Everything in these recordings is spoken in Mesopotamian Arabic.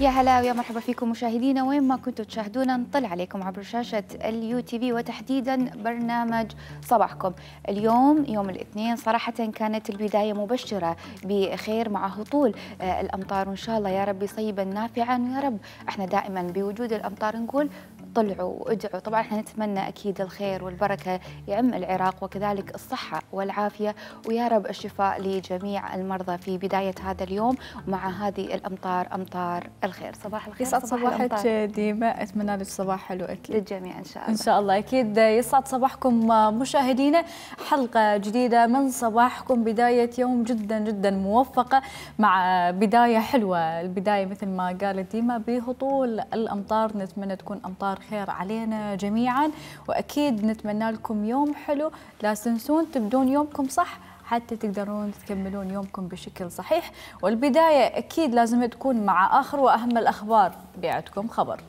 يا هلا ويا مرحبا فيكم مشاهدينا وين ما كنتوا تشاهدونا. نطل عليكم عبر شاشة اليو تي في وتحديدا برنامج صباحكم. اليوم يوم الاثنين صراحة كانت البداية مبشرة بخير مع هطول الأمطار، وإن شاء الله يا رب صيبا نافعا. ويا رب احنا دائما بوجود الأمطار نقول طلعوا وادعوا. طبعا احنا نتمنى اكيد الخير والبركه يعم العراق وكذلك الصحه والعافيه، ويا رب الشفاء لجميع المرضى في بدايه هذا اليوم ومع هذه الامطار امطار الخير. صباح الخير. يسعد صباحك ديما، اتمنى لك صباح حلو اكيد للجميع ان شاء الله. ان شاء الله اكيد يسعد صباحكم مشاهدينا، حلقه جديده من صباحكم، بدايه يوم جدا جدا موفقه مع بدايه حلوه. البدايه مثل ما قالت ديما بهطول الامطار، نتمنى تكون امطار خير علينا جميعا، واكيد نتمنى لكم يوم حلو. لا تنسون تبدون يومكم صح حتى تقدرون تكملون يومكم بشكل صحيح، والبدايه اكيد لازم تكون مع اخر واهم الاخبار. بيعتكم خبر.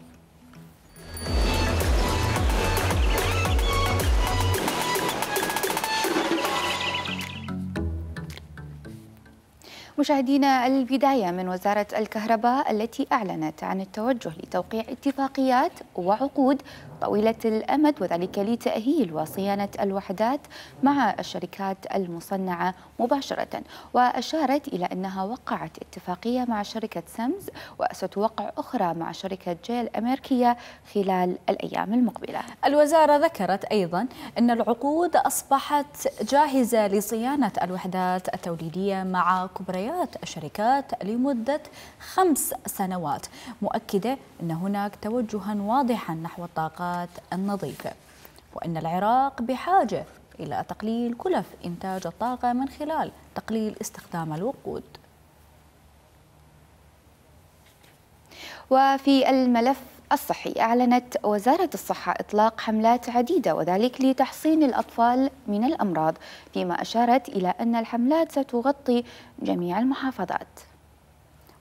مشاهدينا، البداية من وزارة الكهرباء التي أعلنت عن التوجه لتوقيع اتفاقيات وعقود طويلة الأمد، وذلك لتأهيل وصيانة الوحدات مع الشركات المصنعة مباشرة. وأشارت إلى أنها وقعت اتفاقية مع شركة سمز وستوقع أخرى مع شركة جيل الأمريكية خلال الأيام المقبلة. الوزارة ذكرت أيضا أن العقود أصبحت جاهزة لصيانة الوحدات التوليدية مع كبريات الشركات لمدة 5 سنوات، مؤكدة أن هناك توجها واضحا نحو الطاقات النظيفة، وأن العراق بحاجة إلى تقليل كلف إنتاج الطاقة من خلال تقليل استخدام الوقود. وفي الملف الصحي، أعلنت وزارة الصحة إطلاق حملات عديدة وذلك لتحصين الأطفال من الأمراض، فيما أشارت إلى أن الحملات ستغطي جميع المحافظات.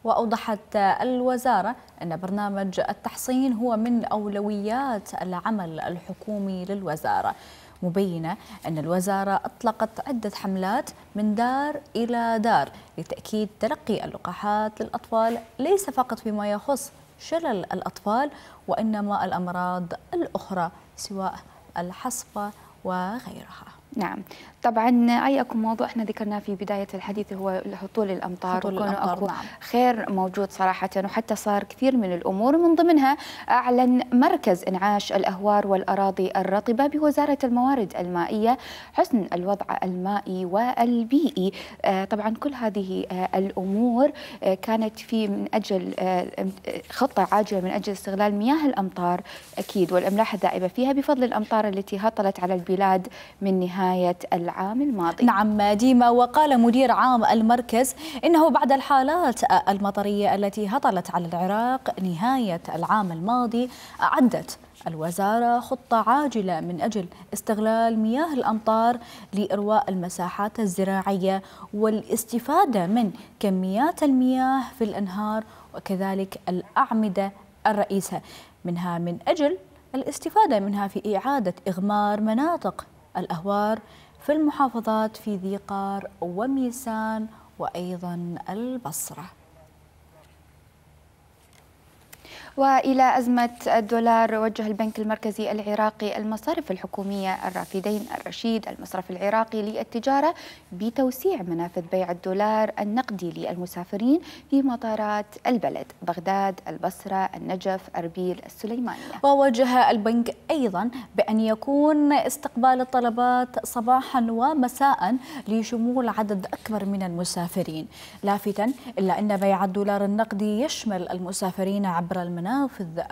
وأوضحت الوزارة أن برنامج التحصين هو من أولويات العمل الحكومي للوزارة، مبينة أن الوزارة أطلقت عدة حملات من دار إلى دار لتأكيد تلقي اللقاحات للأطفال، ليس فقط فيما يخص شلل الأطفال وإنما الأمراض الأخرى سواء الحصبة وغيرها. نعم، طبعا أي أكو موضوع احنا ذكرناه في بداية الحديث هو هطول الأمطار، وكون أكو نعم. خير موجود صراحة، وحتى صار كثير من الأمور، ومن ضمنها أعلن مركز إنعاش الأهوار والأراضي الرطبة بوزارة الموارد المائية حسن الوضع المائي والبيئي. طبعا كل هذه الأمور كانت في من أجل خطة عاجلة من أجل استغلال مياه الأمطار أكيد والأملاح الذائبة فيها بفضل الأمطار التي هطلت على البلاد من نهاية العام الماضي. نعم ديما، وقال مدير عام المركز إنه بعد الحالات المطرية التي هطلت على العراق نهاية العام الماضي، أعدت الوزارة خطة عاجلة من أجل استغلال مياه الأمطار لإرواء المساحات الزراعية والاستفادة من كميات المياه في الأنهار وكذلك الأعمدة الرئيسة منها، من أجل الاستفادة منها في إعادة إغمار مناطق الأهوار في المحافظات في ذي قار وميسان وأيضا البصرة. وإلى أزمة الدولار، وجه البنك المركزي العراقي المصارف الحكومية الرافدين الرشيد المصرف العراقي للتجارة بتوسيع منافذ بيع الدولار النقدي للمسافرين في مطارات البلد بغداد، البصرة، النجف، أربيل، السليمانية. ووجه البنك أيضا بأن يكون استقبال الطلبات صباحا ومساء لشمول عدد أكبر من المسافرين، لافتاً إلا أن بيع الدولار النقدي يشمل المسافرين عبر المنافذ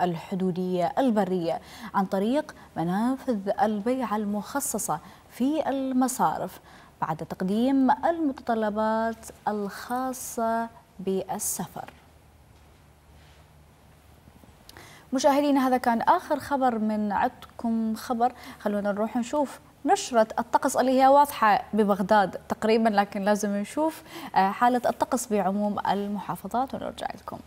الحدودية البرية عن طريق منافذ البيع المخصصة في المصارف بعد تقديم المتطلبات الخاصة بالسفر. مشاهدينا، هذا كان آخر خبر من عندكم خبر. خلونا نروح نشوف نشرة الطقس اللي هي واضحة ببغداد تقريبا، لكن لازم نشوف حالة الطقس بعموم المحافظات ونرجع لكم.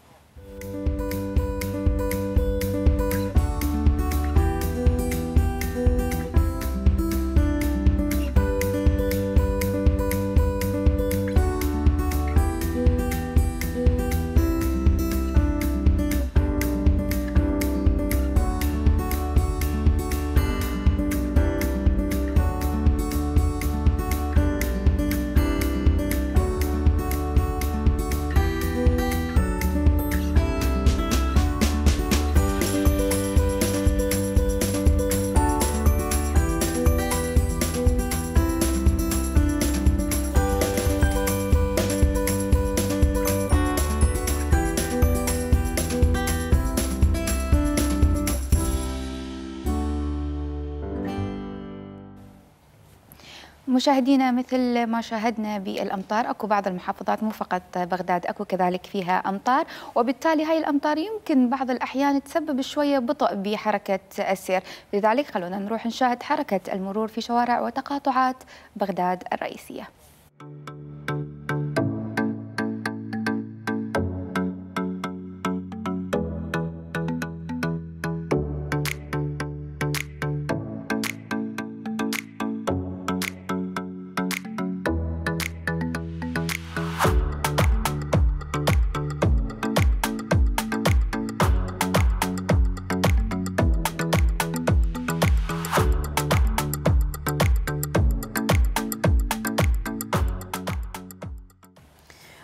مشاهدينا مثل ما شاهدنا بالأمطار، أكو بعض المحافظات مو فقط بغداد أكو كذلك فيها أمطار، وبالتالي هاي الأمطار يمكن بعض الأحيان تسبب شوية بطء بحركة السير. لذلك خلونا نروح نشاهد حركة المرور في شوارع وتقاطعات بغداد الرئيسية.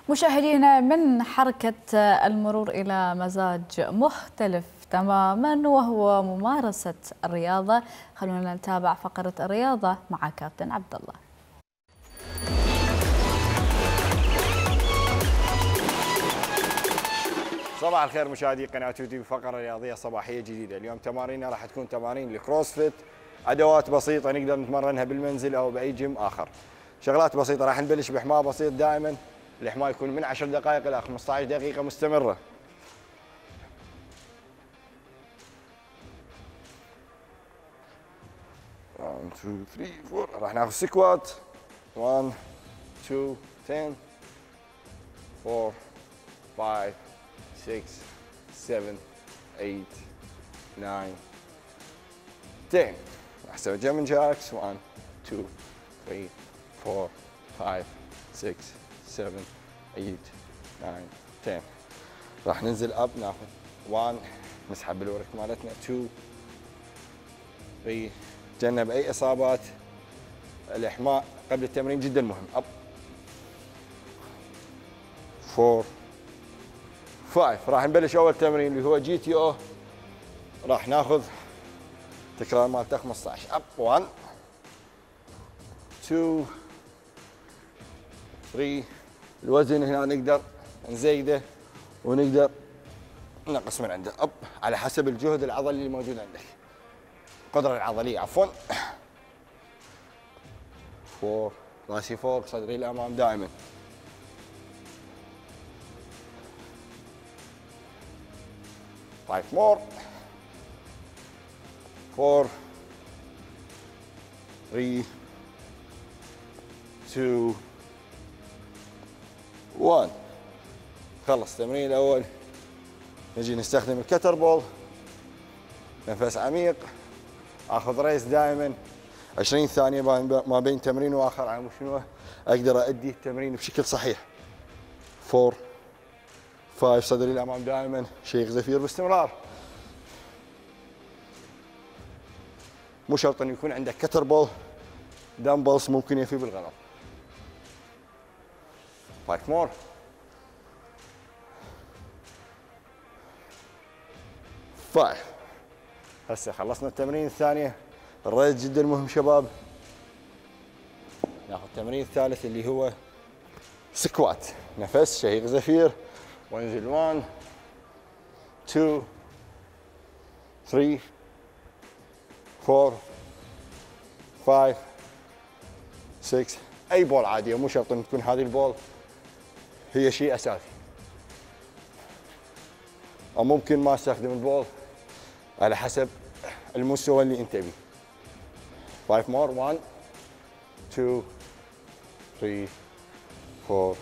مشاهدينا، من حركة المرور إلى مزاج مختلف تماما وهو ممارسة الرياضة. خلونا نتابع فقرة الرياضة مع كابتن عبد الله. صباح الخير مشاهدي قناة يوتيوب، فقرة رياضية صباحية جديدة. اليوم تماريننا راح تكون تمارين الكروسفيت، أدوات بسيطة نقدر نتمرنها بالمنزل أو بأي جيم آخر. شغلات بسيطة، راح نبلش بحماء بسيط دائما، الحماء يكون من 10 دقائق إلى 15 دقيقة مستمرة. One, two, three, four. راح ناخذ سكوات 1 2 10 4 5 6 7 8 9 10. راح نسوي جمن جاكس 1 2 3 4 5 6 7 8 9 10. راح ننزل اب، ناخذ 1 نسحب بالورك مالتنا 2 3. تجنب اي اصابات. الاحماء قبل التمرين جدا مهم. اب 4 5. راح نبلش اول تمرين اللي هو جي تي او، راح ناخذ تكرار مالته 15. اب 1 2 3. الوزن هنا نقدر نزيده ونقدر ننقص من عنده، اب على حسب الجهد العضلي اللي موجود عندك، القدرة العضلية عفوا. 4. راسي فوق، صدري للامام دائما. 5 more. 4 3 2 1. خلص التمرين الاول، نجي نستخدم الكتر بول. نفس عميق، اخذ ريس دائما 20 ثانيه ما بين تمرين واخر، على شنو اقدر ادي التمرين بشكل صحيح. 4 5. صدري الامام دائما، شيخ زفير باستمرار. مو شرط انه يكون عندك كتر بول، دمبلز ممكن يفي بالغلط. 5 more. 5. هسه خلصنا التمرين الثانية. الريس جدا مهم شباب. ناخذ التمرين الثالث اللي هو سكوات، نفس شهيق زفير، وانزل 1 2 3 4 5 6. اي بول عادية، مو شرط ان تكون هذه البول هي شيء اساسي، او ممكن ما استخدم البول على حسب المستوى اللي انت بيه. 5 more. 1 2 3 4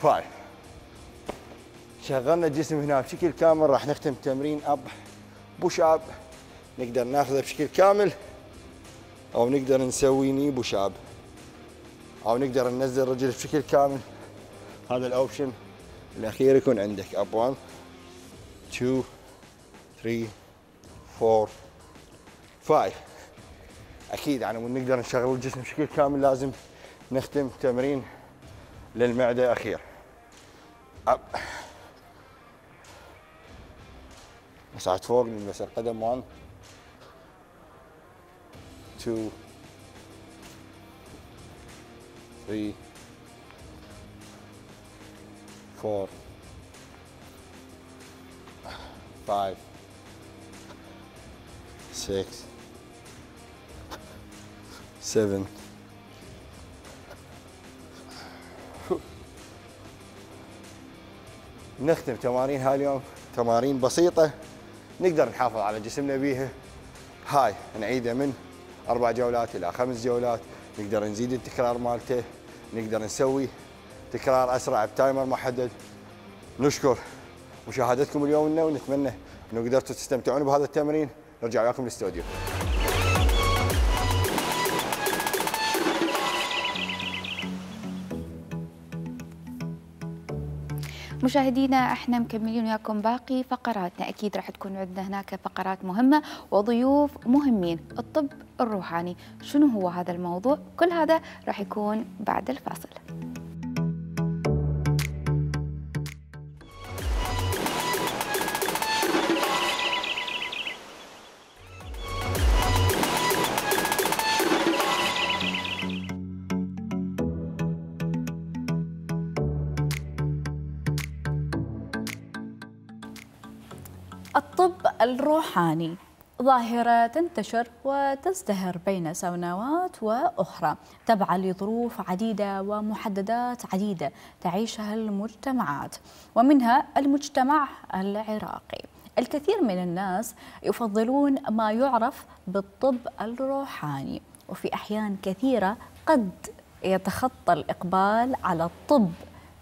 5. شغلنا الجسم هنا بشكل كامل. راح نختم تمرين اب بوش اب، نقدر ناخذه بشكل كامل او نقدر نسوي ني بوش اب، او نقدر ننزل رجل بشكل كامل. هذا الاوبشن الاخير يكون عندك. اب 1 2 3 4 5. اكيد يعني نقدر نشغل الجسم بشكل كامل لازم نختم تمرين للمعده اخير. اب مساعد فوق، نلبس القدم 1 2 3 4 5 6 7 نختم تمارين هاليوم تمارين بسيطة نقدر نحافظ على جسمنا بيها. هاي نعيده من 4 جولات إلى 5 جولات، نقدر نزيد التكرار مالته، نقدر نسوي تكرار أسرع بتايمر محدد. نشكر مشاهدتكم اليوم لنا، ونتمنى أنه قدرتوا تستمتعون بهذا التمرين. نرجع وياكم للاستوديو. مشاهدينا احنا مكملين وياكم باقي فقراتنا، اكيد راح تكون عندنا هناك فقرات مهمه وضيوف مهمين. الطب الروحاني شنو هو هذا الموضوع؟ كل هذا راح يكون بعد الفاصل. الطب الروحاني ظاهرة تنتشر وتزدهر بين سنوات وأخرى تبعا لظروف عديدة ومحددات عديدة تعيشها المجتمعات، ومنها المجتمع العراقي. الكثير من الناس يفضلون ما يعرف بالطب الروحاني، وفي أحيان كثيرة قد يتخطى الإقبال على الطب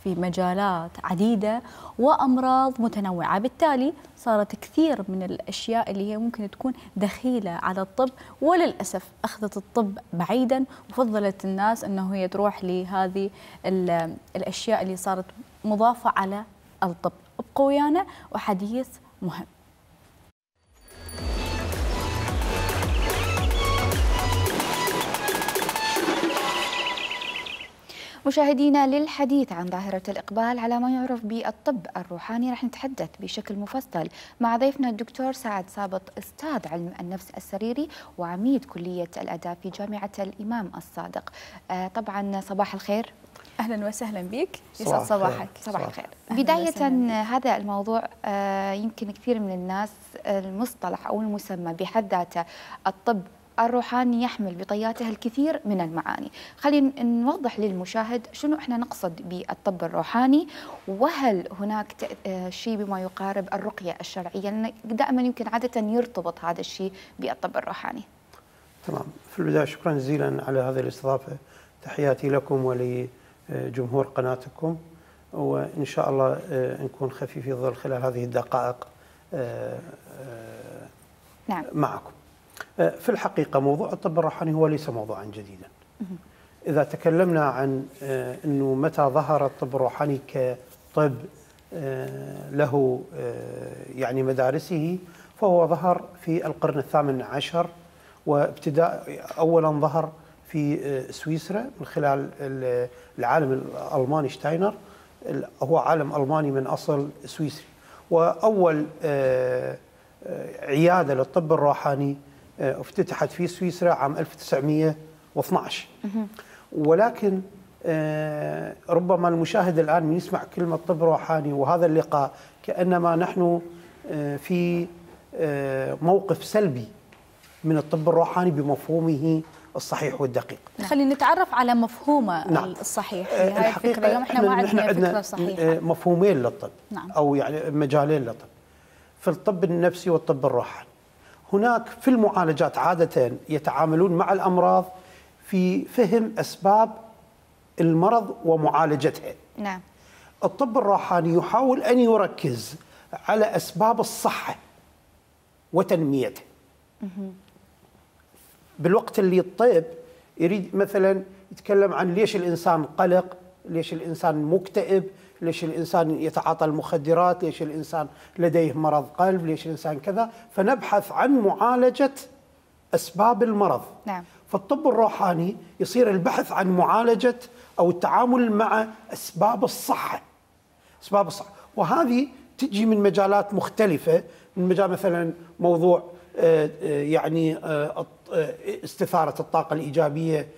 في مجالات عديدة وأمراض متنوعة. بالتالي صارت كثير من الأشياء اللي هي ممكن تكون دخيلة على الطب، وللأسف أخذت الطب بعيدا وفضلت الناس أنه هي تروح لهذه الأشياء اللي صارت مضافة على الطب. ابقوا ويانا وحديث مهم. مشاهدينا، للحديث عن ظاهرة الإقبال على ما يعرف بالطب الروحاني راح نتحدث بشكل مفصل مع ضيفنا الدكتور سعد سابط، أستاذ علم النفس السريري وعميد كلية الآداب في جامعة الإمام الصادق. طبعا صباح الخير. أهلا وسهلا بك، يسعد صباحك. صباح الخير. بداية هذا الموضوع يمكن كثير من الناس المصطلح أو المسمى بحد ذاته الطب الروحاني يحمل بطياته الكثير من المعاني. خلينا نوضح للمشاهد شنو احنا نقصد بالطب الروحاني، وهل هناك شيء بما يقارب الرقية الشرعية، لأن دائما يمكن عادة يرتبط هذا الشيء بالطب الروحاني. تمام. في البداية شكرا جزيلا على هذه الاستضافة، تحياتي لكم ولجمهور قناتكم، وإن شاء الله نكون خفيفي الظل خلال هذه الدقائق نعم. معكم. في الحقيقة موضوع الطب الروحاني هو ليس موضوعا جديدا. إذا تكلمنا عن أنه متى ظهر الطب الروحاني كطب له يعني مدارسه، فهو ظهر في القرن ال18، وابتداء أولا ظهر في سويسرا من خلال العالم الألماني شتاينر. هو عالم ألماني من أصل سويسري، وأول عيادة للطب الروحاني افتتحت في سويسرا عام 1912. ولكن ربما المشاهد الآن من يسمع كلمة طب روحاني وهذا اللقاء كأنما نحن في موقف سلبي من الطب الروحاني بمفهومه الصحيح والدقيق. خلينا نتعرف على مفهومه. نعم. الصحيح في هاي الفكرة. اليوم احنا ما عندنا فكرة صحيحة. مفهومين للطب. نعم. أو يعني مجالين للطب، في الطب النفسي والطب الروحاني. هناك في المعالجات عادة يتعاملون مع الأمراض في فهم أسباب المرض ومعالجتها. نعم. الطب الروحاني يحاول أن يركز على أسباب الصحة وتنميتها. بالوقت اللي الطب يريد مثلا يتكلم عن ليش الإنسان قلق، ليش الإنسان مكتئب، ليش الإنسان يتعاطى المخدرات، ليش الإنسان لديه مرض قلب، ليش الإنسان كذا، فنبحث عن معالجة أسباب المرض. نعم. فالطب الروحاني يصير البحث عن معالجة أو التعامل مع أسباب الصحة. أسباب الصحة، وهذه تجي من مجالات مختلفة، من مجال مثلا موضوع يعني استثارة الطاقة الإيجابية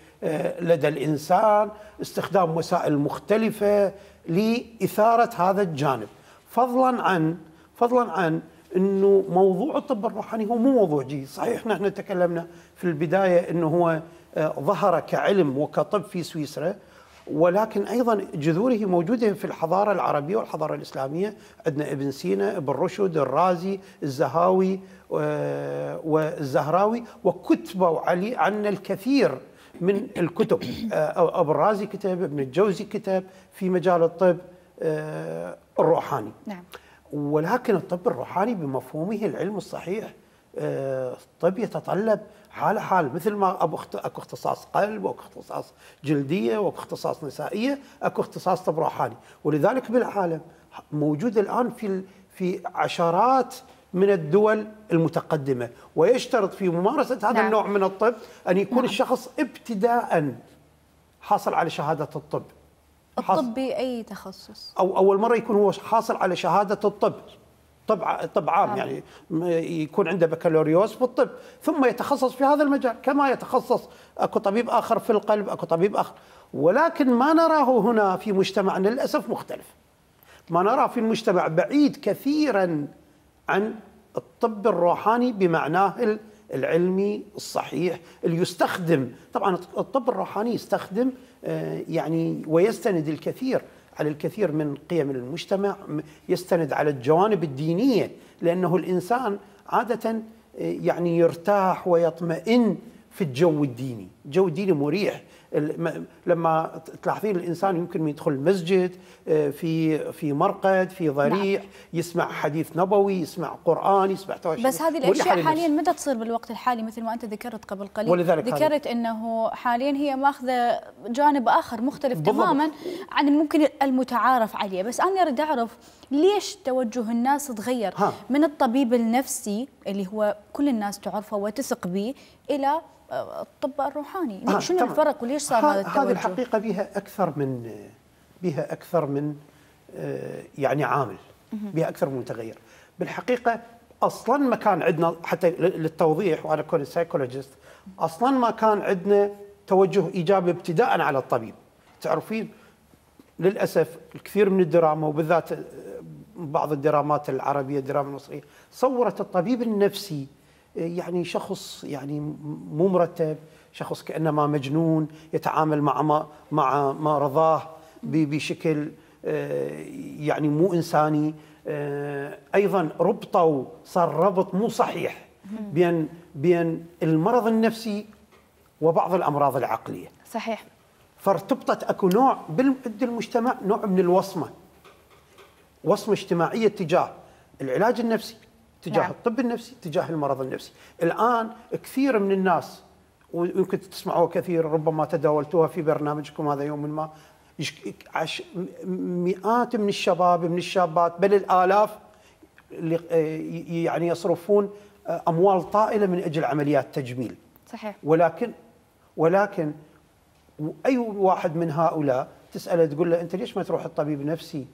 لدى الإنسان، استخدام وسائل مختلفة لإثارة هذا الجانب، فضلا عن أنه موضوع الطب الروحاني هو مو موضوع جديد. صحيح نحن تكلمنا في البداية أنه هو ظهر كعلم وكطب في سويسرا، ولكن أيضا جذوره موجودة في الحضارة العربية والحضارة الإسلامية. عندنا ابن سينا، ابن رشد، الرازي، الزهاوي والزهراوي، وكتبوا علي عنا الكثير من الكتب. أبو الرازي كتب، ابن الجوزي كتب في مجال الطب الروحاني. نعم. ولكن الطب الروحاني بمفهومه العلم الصحيح، الطب يتطلب حالة حال، مثل ما اكو اختصاص قلب، واكو اختصاص جلدية، واكو اختصاص نسائية، اكو اختصاص طب روحاني. ولذلك بالعالم موجود الآن في عشرات من الدول المتقدمة، ويشترط في ممارسة هذا نعم. النوع من الطب أن يكون الشخص ابتداء حاصل على شهادة الطب. الطب بأي تخصص؟ أو أول مرة يكون هو حاصل على شهادة الطب، طب عام، يعني يكون عنده بكالوريوس في الطب، ثم يتخصص في هذا المجال. كما يتخصص اكو طبيب آخر في القلب، اكو طبيب آخر. ولكن ما نراه هنا في مجتمعنا للأسف مختلف. ما نراه في المجتمع بعيد كثيرا عن الطب الروحاني بمعناه العلمي الصحيح اللي يستخدم. طبعا الطب الروحاني يستخدم يعني ويستند الكثير على الكثير من قيم المجتمع، يستند على الجوانب الدينية، لأنه الإنسان عادة يعني يرتاح ويطمئن في الجو الديني. الجو الديني مريح. لما تلاحظين الإنسان يمكن يدخل المسجد، في مرقد، في ضريح، يسمع حديث نبوي، يسمع قرآن، يسمع تواشيح. بس هذه الأشياء حاليا متى تصير بالوقت الحالي؟ مثل ما أنت ذكرت قبل قليل، ذكرت أنه حاليا هي ماخذة جانب آخر مختلف تماما عن ممكن المتعارف عليه. بس أنا أريد أعرف ليش توجه الناس تغير من الطبيب النفسي اللي هو كل الناس تعرفه وتثق به إلى الطب الروحاني. شنو الفرق وليش صار هذا التوجه؟ هذه الحقيقة بها أكثر من يعني عامل، بها أكثر من متغير. بالحقيقة أصلاً ما كان عندنا، حتى للتوضيح وأنا كنت سايكولوجيست، أصلاً ما كان عندنا توجه إيجابي ابتداءً على الطبيب. تعرفين للأسف الكثير من الدراما، وبالذات بعض الدرامات العربية، الدراما المصرية، صورت الطبيب النفسي يعني شخص يعني مو مرتب، شخص كأنما مجنون، يتعامل مع ما رضاه بشكل يعني مو إنساني. أيضا صار ربط مو صحيح بين المرض النفسي وبعض الأمراض العقلية. صحيح. فارتبطت أكو نوع عند المجتمع، نوع من الوصمة اجتماعية تجاه العلاج النفسي، تجاه الطب النفسي، تجاه المرض النفسي. الآن كثير من الناس، ويمكن تسمعوها كثير، ربما تداولتوها في برنامجكم هذا يوم ما، مئات من الشباب من الشابات بل الآلاف اللي يعني يصرفون أموال طائلة من أجل عمليات تجميل. صحيح. ولكن أي واحد من هؤلاء تسأله تقول له أنت ليش ما تروح الطبيب نفسي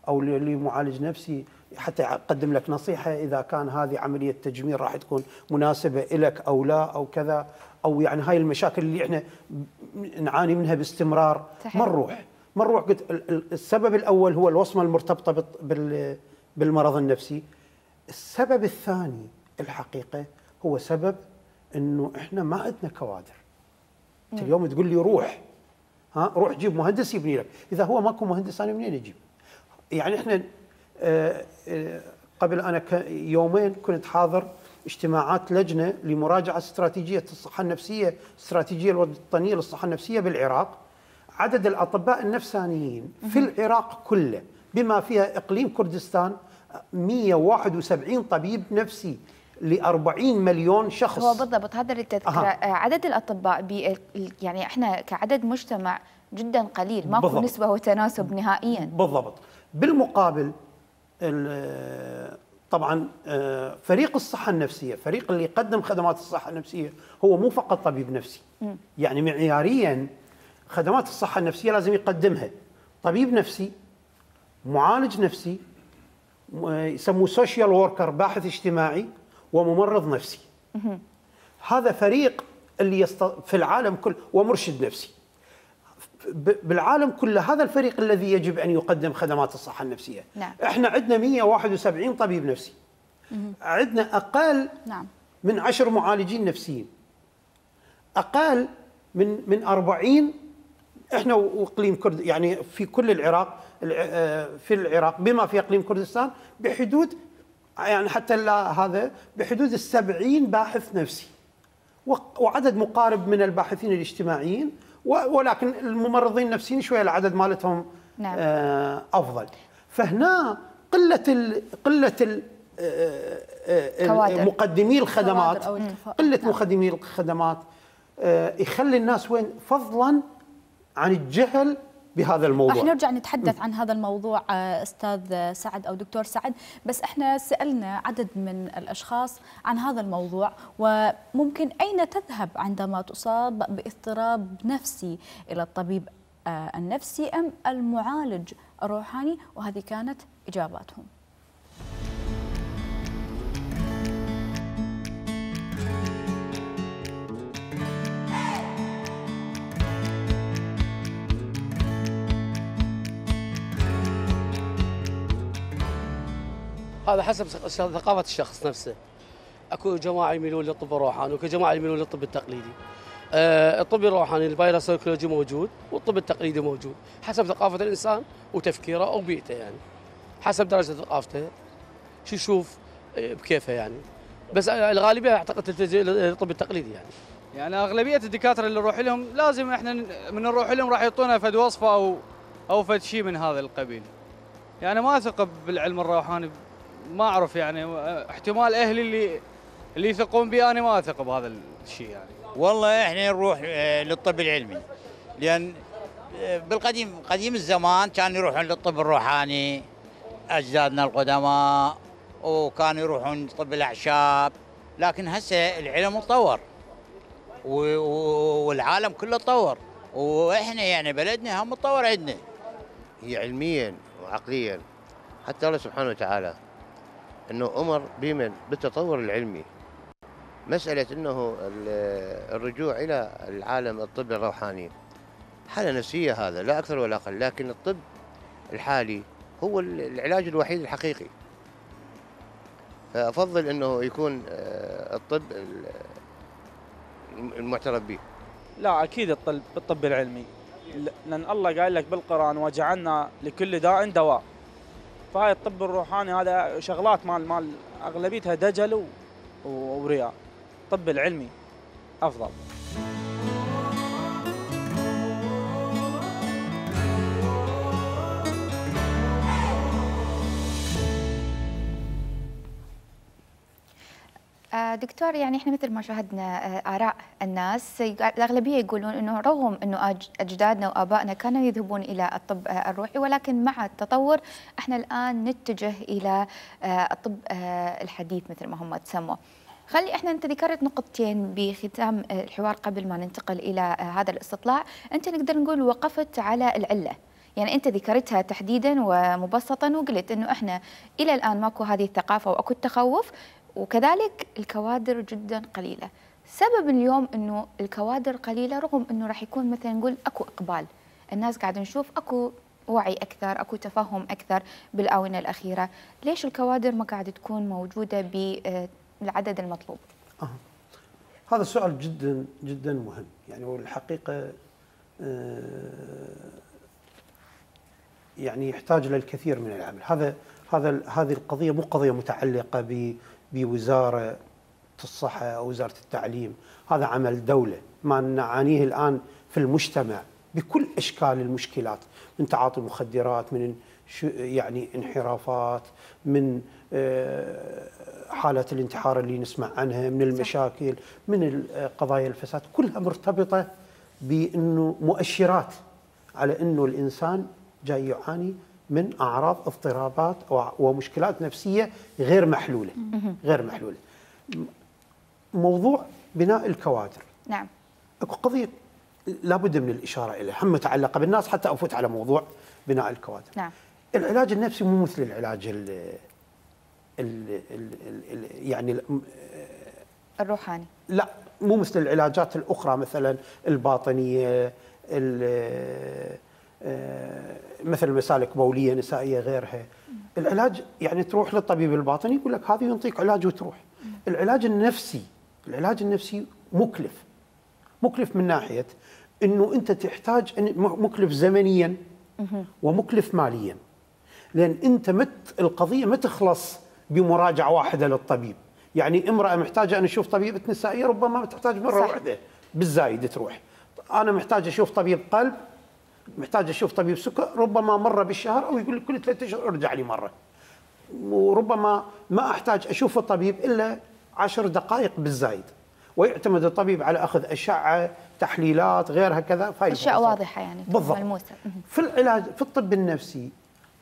أو لمعالج نفسي حتى يقدم لك نصيحة إذا كان هذه عملية تجميل راح تكون مناسبة لك أو لا أو كذا، أو يعني هاي المشاكل اللي إحنا نعاني منها باستمرار. صحيح. ما نروح. قلت السبب الأول هو الوصمة المرتبطة بالمرض النفسي. السبب الثاني الحقيقة هو سبب إنه إحنا ما عندنا كوادر. أنت اليوم تقول لي روح جيب مهندس يبني لك، إذا هو ماكو مهندس أنا منين أجيب؟ يعني إحنا قبل أنا يومين كنت حاضر اجتماعات لجنة لمراجعة استراتيجية الصحة النفسية، استراتيجية الوطنية للصحة النفسية بالعراق. عدد الأطباء النفسانيين في العراق كله بما فيها إقليم كردستان 171 طبيب نفسي ل40 مليون شخص. هو بالضبط هذا التذكرة. عدد الأطباء يعني احنا كعدد مجتمع جدا قليل، ماكو نسبة وتناسب نهائيا. بالضبط. بالمقابل طبعا فريق الصحة النفسية، فريق اللي يقدم خدمات الصحة النفسية، هو مو فقط طبيب نفسي. يعني معياريا خدمات الصحة النفسية لازم يقدمها طبيب نفسي، معالج نفسي، يسموه سوشيال ووركر باحث اجتماعي، وممرض نفسي. هذا فريق اللي في العالم كله، ومرشد نفسي. بالعالم كله هذا الفريق الذي يجب أن يقدم خدمات الصحة النفسية. نعم. احنا عندنا 171 طبيب نفسي، عندنا أقل من 10 معالجين نفسيين، أقل من 40 احنا واقليم يعني في كل العراق، في العراق بما في اقليم كردستان بحدود يعني حتى هذا بحدود ال70 باحث نفسي، وعدد مقارب من الباحثين الاجتماعيين، ولكن الممرضين النفسيين شويه العدد مالتهم نعم. افضل. فهنا قله مقدمي الخدمات، قله مقدمي الخدمات يخلي الناس وين فضلا عن الجهل بهذا الموضوع. رح نرجع نتحدث عن هذا الموضوع أستاذ سعد أو دكتور سعد، بس احنا سألنا عدد من الأشخاص عن هذا الموضوع، وممكن أين تذهب عندما تصاب باضطراب نفسي، إلى الطبيب النفسي أم المعالج الروحاني؟ وهذه كانت إجاباتهم. هذا حسب ثقافة الشخص نفسه. اكو جماعة يميلون للطب الروحاني واكو جماعة يميلون للطب التقليدي. الطب الروحاني البايروسايكولوجي موجود والطب التقليدي موجود، حسب ثقافة الإنسان وتفكيره أو بيئته، يعني حسب درجة ثقافته شو يشوف بكيفه يعني. بس الغالبية أعتقد تلتجئ للطب التقليدي يعني أغلبية الدكاترة اللي نروح لهم لازم احنا من نروح لهم راح يعطونا فد وصفة أو فد شيء من هذا القبيل. يعني ما أثق بالعلم الروحاني، ما أعرف يعني احتمال أهلي اللي يثقون بي أنا ما أثق بهذا الشيء يعني. والله احنا نروح للطب العلمي، لأن قديم الزمان كانوا يروحون للطب الروحاني أجدادنا القدماء، وكانوا يروحون طب الأعشاب، لكن هسه العلم تطور والعالم كله تطور، واحنا يعني بلدنا هم تطور عندنا. هي علميا وعقليا حتى الله سبحانه وتعالى انه امر بمن بالتطور العلمي. مساله انه الرجوع الى العالم الطب الروحاني حاله نفسيه، هذا لا اكثر ولا اقل، لكن الطب الحالي هو العلاج الوحيد الحقيقي. فافضل انه يكون الطب المعترف به. لا اكيد الطب العلمي، لان الله قال لك بالقران وجعلنا لكل داء دواء. فهاي الطب الروحاني هذا شغلات مال اغلبيتها دجل ورياء. الطب العلمي افضل. دكتور، يعني احنا مثل ما شاهدنا آراء الناس، الأغلبية يقولون أنه رغم أنه أجدادنا وآبائنا كانوا يذهبون إلى الطب الروحي، ولكن مع التطور احنا الآن نتجه إلى الطب الحديث مثل ما هم تسموا. انت ذكرت نقطتين بختام الحوار قبل ما ننتقل إلى هذا الاستطلاع، انت نقدر نقول وقفت على العلة، يعني انت ذكرتها تحديدا ومبسطا وقلت انه احنا إلى الآن ماكو هذه الثقافة واكو التخوف، وكذلك الكوادر جدا قليلة. سبب اليوم انه الكوادر قليلة رغم انه راح يكون مثلا نقول اكو اقبال، الناس قاعدة نشوف اكو وعي اكثر، اكو تفهم اكثر بالاونة الاخيرة، ليش الكوادر ما قاعدة تكون موجودة بالعدد المطلوب؟ هذا سؤال جدا جدا مهم، يعني والحقيقة يعني يحتاج للكثير من العمل. هذه القضية مو قضية متعلقة بوزارة الصحة أو وزارة التعليم، هذا عمل دولة. ما نعانيه الآن في المجتمع بكل أشكال المشكلات، من تعاطي المخدرات، من يعني انحرافات، من حالة الانتحار اللي نسمع عنها، من المشاكل، من قضايا الفساد، كلها مرتبطة بأنه مؤشرات على أنه الإنسان جاي يعاني من أعراض اضطرابات ومشكلات نفسية غير محلولة. موضوع بناء الكوادر، نعم، اكو قضية لابد من الإشارة إليها، هم متعلقة بالناس حتى أفوت على موضوع بناء الكوادر. نعم. العلاج النفسي مو مثل العلاج يعني الروحاني، لا مو مثل العلاجات الأخرى، مثلا الباطنية، مثل مسالك بولية نسائية غيرها. العلاج يعني تروح للطبيب الباطني يقول لك هذه ينطيك علاج وتروح. العلاج النفسي مكلف من ناحية انه انت تحتاج مكلف زمنيا ومكلف ماليا، لان انت القضيه ما تخلص بمراجعه واحده للطبيب. يعني امراه محتاجه ان اشوف طبيبه نسائيه ربما ما تحتاج مره واحده بالزايد تروح. انا محتاج اشوف طبيب قلب، محتاج اشوف طبيب سكر، ربما مره بالشهر، او يقول لك كل 3 اشهر ارجع لي مره. وربما ما احتاج اشوف الطبيب الا 10 دقائق بالزايد، ويعتمد الطبيب على اخذ اشعه، تحليلات، غيرها كذا. اشياء واضحه يعني بالضبط. ملموسه. في العلاج، في الطب النفسي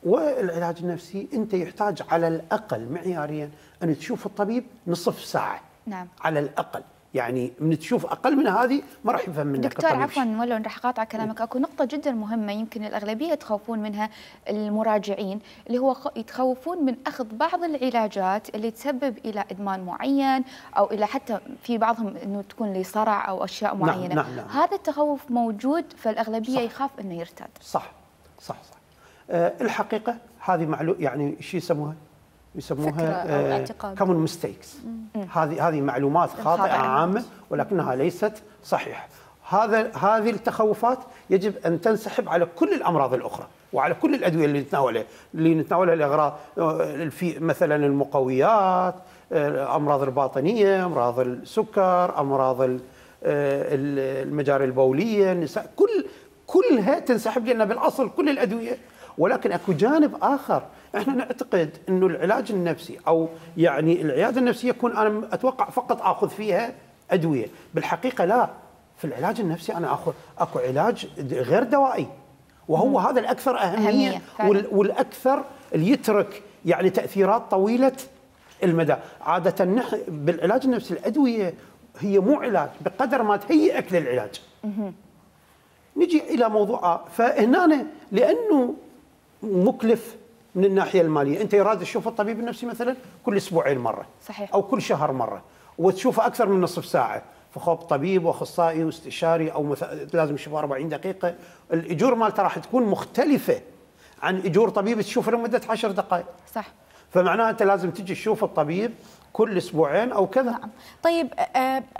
والعلاج النفسي، انت يحتاج على الاقل معياريا ان تشوف الطبيب نصف ساعه. نعم. على الاقل، يعني من تشوف اقل من هذه ما راح يفهم منك دكتور الطبيب. عفوا ولو راح اقاطع كلامك، اكو نقطه جدا مهمه يمكن الاغلبيه يتخوفون منها المراجعين، اللي هو يتخوفون من اخذ بعض العلاجات اللي تسبب الى ادمان معين، او الى حتى في بعضهم انه تكون لصرع او اشياء معينه. نعم. هذا التخوف موجود، فالاغلبيه يخاف انه يرتد. صح. الحقيقه هذه معلومه، يعني شو يسموها كومن ميستيكس. هذه معلومات خاطئه عامه ولكنها ليست صحيحه. هذه التخوفات يجب ان تنسحب على كل الامراض الاخرى وعلى كل الادويه اللي نتناولها الاغراض، في مثلا المقويات، الامراض الباطنيه، امراض السكر، امراض المجاري البوليه، النساء، كلها تنسحب، لان بالاصل كل الادويه. ولكن اكو جانب اخر، احنا نعتقد انه العلاج النفسي او يعني العياده النفسيه يكون انا اتوقع فقط اخذ فيها ادويه. بالحقيقه لا، في العلاج النفسي انا اكو علاج غير دوائي، وهو هذا الاكثر اهميه والاكثر اللي يترك يعني تاثيرات طويله المدى. عاده بالعلاج النفسي الادويه هي مو علاج بقدر ما تهيئك للعلاج. نجي الى موضوع، فهنا لانه مكلف من الناحيه الماليه، انت يراد تشوف الطبيب النفسي مثلا كل اسبوعين مره، صحيح، او كل شهر مره، وتشوفه اكثر من نصف ساعه، فخوف طبيب واخصائي واستشاري، او لازم تشوفه 40 دقيقه، الاجور مالته راح تكون مختلفه عن اجور طبيب تشوفه لمده 10 دقائق. صح. فمعناها انت لازم تجي تشوف الطبيب كل اسبوعين او كذا. نعم. طيب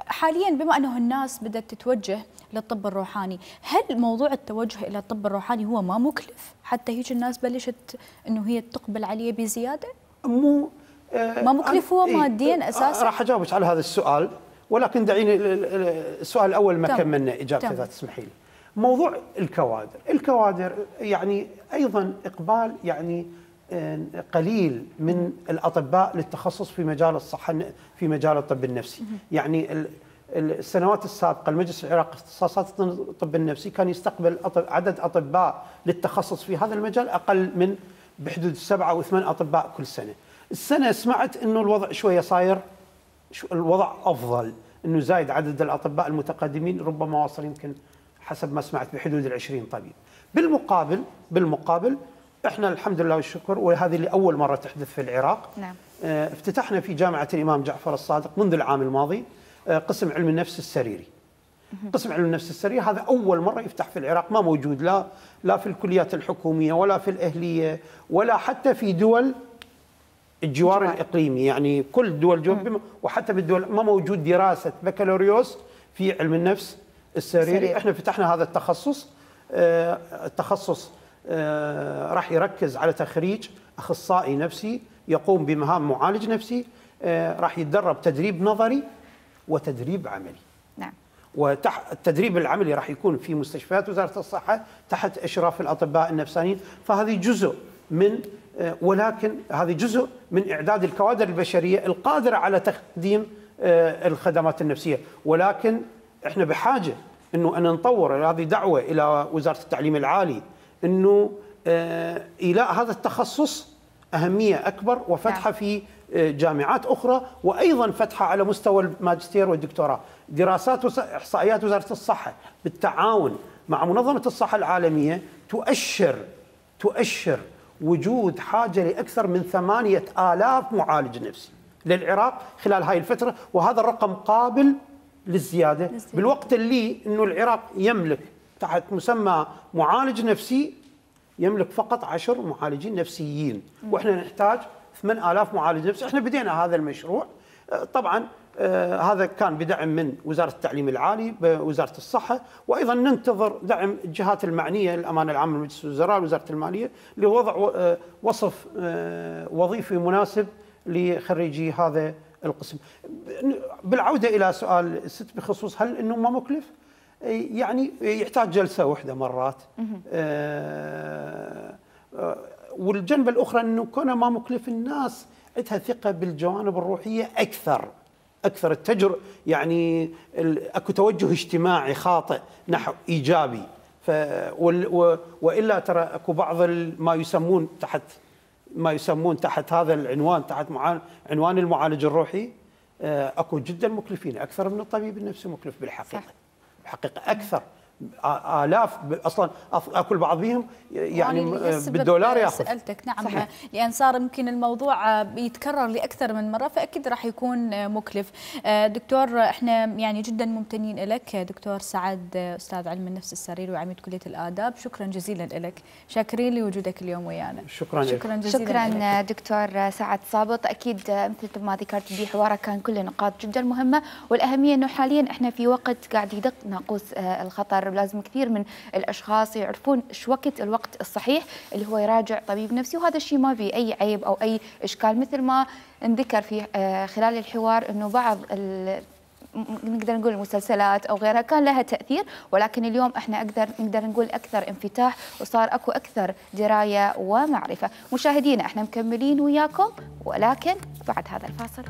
حاليا بما انه الناس بدات تتوجه للطب الروحاني، هل موضوع التوجه الى الطب الروحاني هو ما مكلف؟ حتى هيك الناس بلشت انه هي تقبل عليه بزياده؟ مو ما مكلف هو ماديا اساسا؟ راح اجاوبك على هذا السؤال، ولكن دعيني السؤال الاول ما كملنا اجابته اذا تسمحي لي. موضوع الكوادر يعني ايضا اقبال يعني قليل من الاطباء للتخصص في مجال الصحه، في مجال الطب النفسي. يعني السنوات السابقه المجلس العراقي اختصاصات الطب النفسي كان يستقبل عدد اطباء للتخصص في هذا المجال اقل من بحدود 7 أو 8 اطباء كل سنه. السنه سمعت انه الوضع شويه صاير، الوضع افضل، انه زايد عدد الاطباء المتقدمين، ربما واصل يمكن حسب ما سمعت بحدود ال20 طبيب. بالمقابل احنا الحمد لله والشكر، وهذه لأول مرة تحدث في العراق. نعم. افتتحنا في جامعة الإمام جعفر الصادق منذ العام الماضي قسم علم النفس السريري. قسم علم النفس السريري هذا أول مرة يفتح في العراق، ما موجود لا في الكليات الحكومية ولا في الأهلية ولا حتى في دول الجوار الإقليمي، يعني كل دول وحتى بالدول ما موجود دراسة بكالوريوس في علم النفس السريري. احنا فتحنا هذا التخصص. التخصص راح يركز على تخريج أخصائي نفسي يقوم بمهام معالج نفسي، راح يتدرب تدريب نظري وتدريب عملي. نعم. والتدريب العملي راح يكون في مستشفيات وزارة الصحة تحت إشراف الأطباء النفسانيين، فهذه جزء من ولكن هذه جزء من إعداد الكوادر البشرية القادرة على تقديم الخدمات النفسية. ولكن احنا بحاجة انه ان نطور، هذه دعوة إلى وزارة التعليم العالي انه إيلاء هذا التخصص أهمية أكبر، وفتحه في جامعات أخرى، وأيضا فتحه على مستوى الماجستير والدكتوراه. دراسات إحصائيات وزارة الصحة بالتعاون مع منظمة الصحة العالمية تؤشر وجود حاجة لأكثر من 8000 معالج نفسي للعراق خلال هاي الفترة، وهذا الرقم قابل للزيادة بالوقت اللي أنه العراق يملك تحت مسمى معالج نفسي يملك فقط 10 معالجين نفسيين، واحنا نحتاج 8000 معالج نفسي. احنا بدينا هذا المشروع، طبعا هذا كان بدعم من وزارة التعليم العالي بوزارة الصحة، وأيضا ننتظر دعم الجهات المعنية، الأمانة العامة لمجلس الوزراء، وزارة المالية، لوضع وصف وظيفي مناسب لخريجي هذا القسم. بالعودة إلى سؤال الست بخصوص هل أنه ما مكلف؟ يعني يحتاج جلسة واحدة مرات. والجنبة الأخرى أنه كونه ما مكلف، الناس عندها ثقة بالجوانب الروحية أكثر التجر، يعني أكو توجه اجتماعي خاطئ نحو إيجابي. وإلا ترى أكو بعض ما يسمون تحت هذا العنوان، تحت عنوان المعالج الروحي، أكو جدا مكلفين أكثر من الطبيب النفسي مكلف بالحقيقة. الحقيقة أكثر آلاف أصلا، أكل بعض بهم يعني بالدولار ياخذ. سألتك نعم صحيح. لأن صار يمكن الموضوع بيتكرر لأكثر من مرة، فأكيد راح يكون مكلف. دكتور احنا يعني جدا ممتنين لك دكتور سعد، أستاذ علم النفس السريري وعميد كلية الآداب، شكرا جزيلا لك، شاكرين لوجودك اليوم ويانا. شكرا جزيلا. شكرا دكتور سعد صابط. أكيد مثل ما ذكرت بحوارك كان كل نقاط جدا مهمة، والأهمية أنه حاليا احنا في وقت قاعد يدق ناقوس الخطر، لازم كثير من الأشخاص يعرفون ايش الوقت الصحيح اللي هو يراجع طبيب نفسي، وهذا الشيء ما في أي عيب أو أي إشكال. مثل ما نذكر في خلال الحوار أنه بعض نقدر نقول المسلسلات أو غيرها كان لها تأثير، ولكن اليوم احنا نقدر نقول أكثر انفتاح، وصار أكو أكثر دراية ومعرفة. مشاهدينا احنا مكملين وياكم، ولكن بعد هذا الفاصل.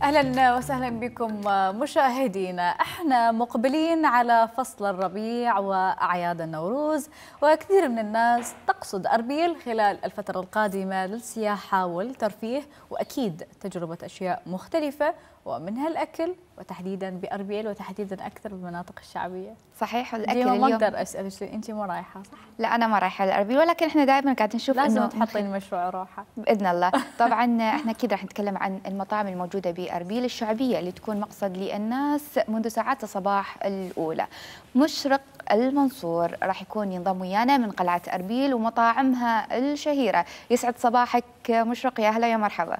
أهلا وسهلا بكم مشاهدينا. احنا مقبلين على فصل الربيع وأعياد النوروز، وكثير من الناس تقصد أربيل خلال الفترة القادمة للسياحة والترفيه، وأكيد تجربة أشياء مختلفة ومنها الأكل، وتحديدا بأربيل وتحديدا أكثر بالمناطق الشعبية. صحيح. الأكل اليوم اليوم ما أقدر أسألك، أنت مو رايحة صح؟ لا أنا ما رايحة لأربيل، ولكن احنا دائما قاعدين نشوف لازم تحطين مشروع راحة بإذن الله. طبعا احنا أكيد راح نتكلم عن المطاعم الموجودة بأربيل الشعبية اللي تكون مقصد للناس منذ ساعات الصباح الأولى. مشرق المنصور راح يكون ينضم ويانا من قلعة أربيل ومطاعمها الشهيرة. يسعد صباحك مشرق، يا هلا يا مرحبا.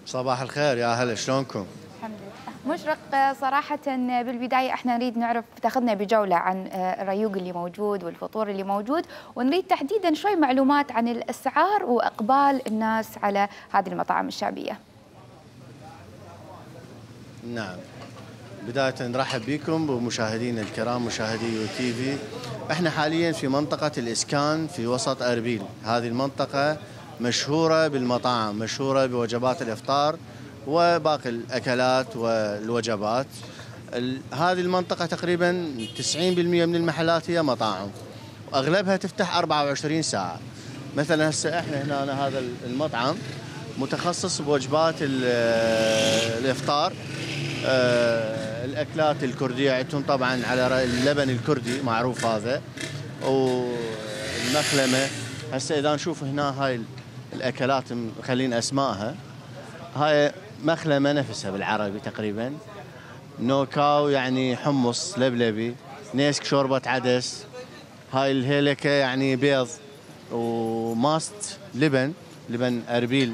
صباح الخير، يا هلا شلونكم؟ الحمد لله. مشرق، صراحة بالبداية احنا نريد نعرف، تاخذنا بجولة عن الريوق اللي موجود والفطور اللي موجود، ونريد تحديدا شوي معلومات عن الأسعار وإقبال الناس على هذه المطاعم الشعبية. نعم، بداية نرحب بكم بمشاهدينا الكرام مشاهدي يو تي في. احنا حاليا في منطقة الإسكان في وسط أربيل. هذه المنطقة مشهورة بالمطاعم، مشهورة بوجبات الإفطار وباقي الأكلات والوجبات. هذه المنطقة تقريبا 90% من المحلات هي مطاعم، وأغلبها تفتح 24 ساعة. مثلا هسه احنا هنا هذا المطعم متخصص بوجبات الإفطار، الأكلات الكردية عندهم طبعا على اللبن الكردي معروف هذا، والمخلمة. هسه إذا نشوف هنا هاي الأكلات مخلين أسمائها، هاي مخلمة نفسها بالعربي تقريبا، نوكاو يعني حمص لبلبي، نيسك شوربة عدس، هاي الهيلكة يعني بيض، وماست لبن أربيل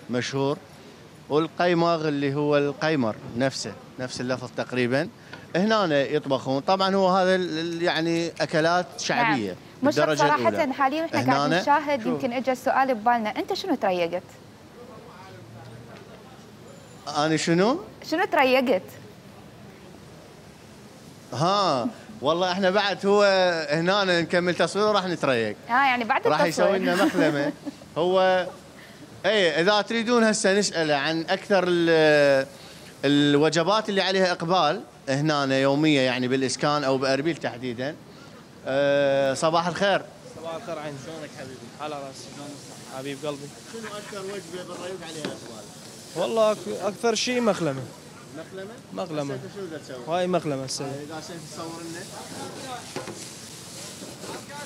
مشهور، والقيماغ اللي هو القيمر نفس اللفظ تقريبا. هنا يطبخون طبعا، هو هذا يعني أكلات شعبية. نعم. مشرق صراحة حاليا احنا قاعد نشاهد، يمكن اجى السؤال ببالنا، انت شنو تريقت؟ أنا شنو تريقت؟ والله احنا بعد هو هنا نكمل تصوير وراح نتريق. يعني بعد التصوير راح يسوي لنا مخلمة. هو اذا تريدون هسه نسأله عن اكثر الوجبات اللي عليها اقبال هنا يومية، يعني بالإسكان او بأربيل تحديدا. صباح الخير. صباح الخير عين، شلونك حبيبي؟ على راسي، حبيب قلبي. شنو اكثر وجبه بالريوق عليها اقبال؟ والله اكثر شيء مخلمه. شنو تسوي؟ هاي مخلمه هسه. اذا تصور لنا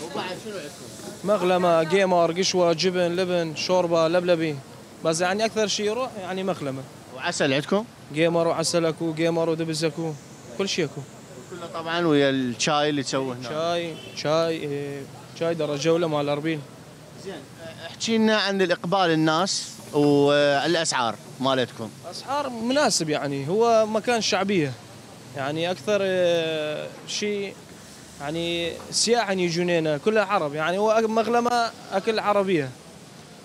وبعد شنو عندكم؟ مغلمه، جيمر، قشوه، جبن، لبن، شوربه، لبلبي، بس يعني اكثر شيء يروح يعني مغلمه. وعسل عندكم؟ جيمر وعسل اكو، جيمر ودبز اكو، كل شيء اكو. كله طبعا ويا الشاي اللي تسووه هنا. شاي درجه ولا مال اربيل. زين احكي لنا عن الاقبال الناس والاسعار مالتكم. اسعار مناسب يعني، هو مكان شعبيه يعني اكثر شيء يعني سياح يجون هنا كلها عرب يعني، هو مغلمه اكل عربيه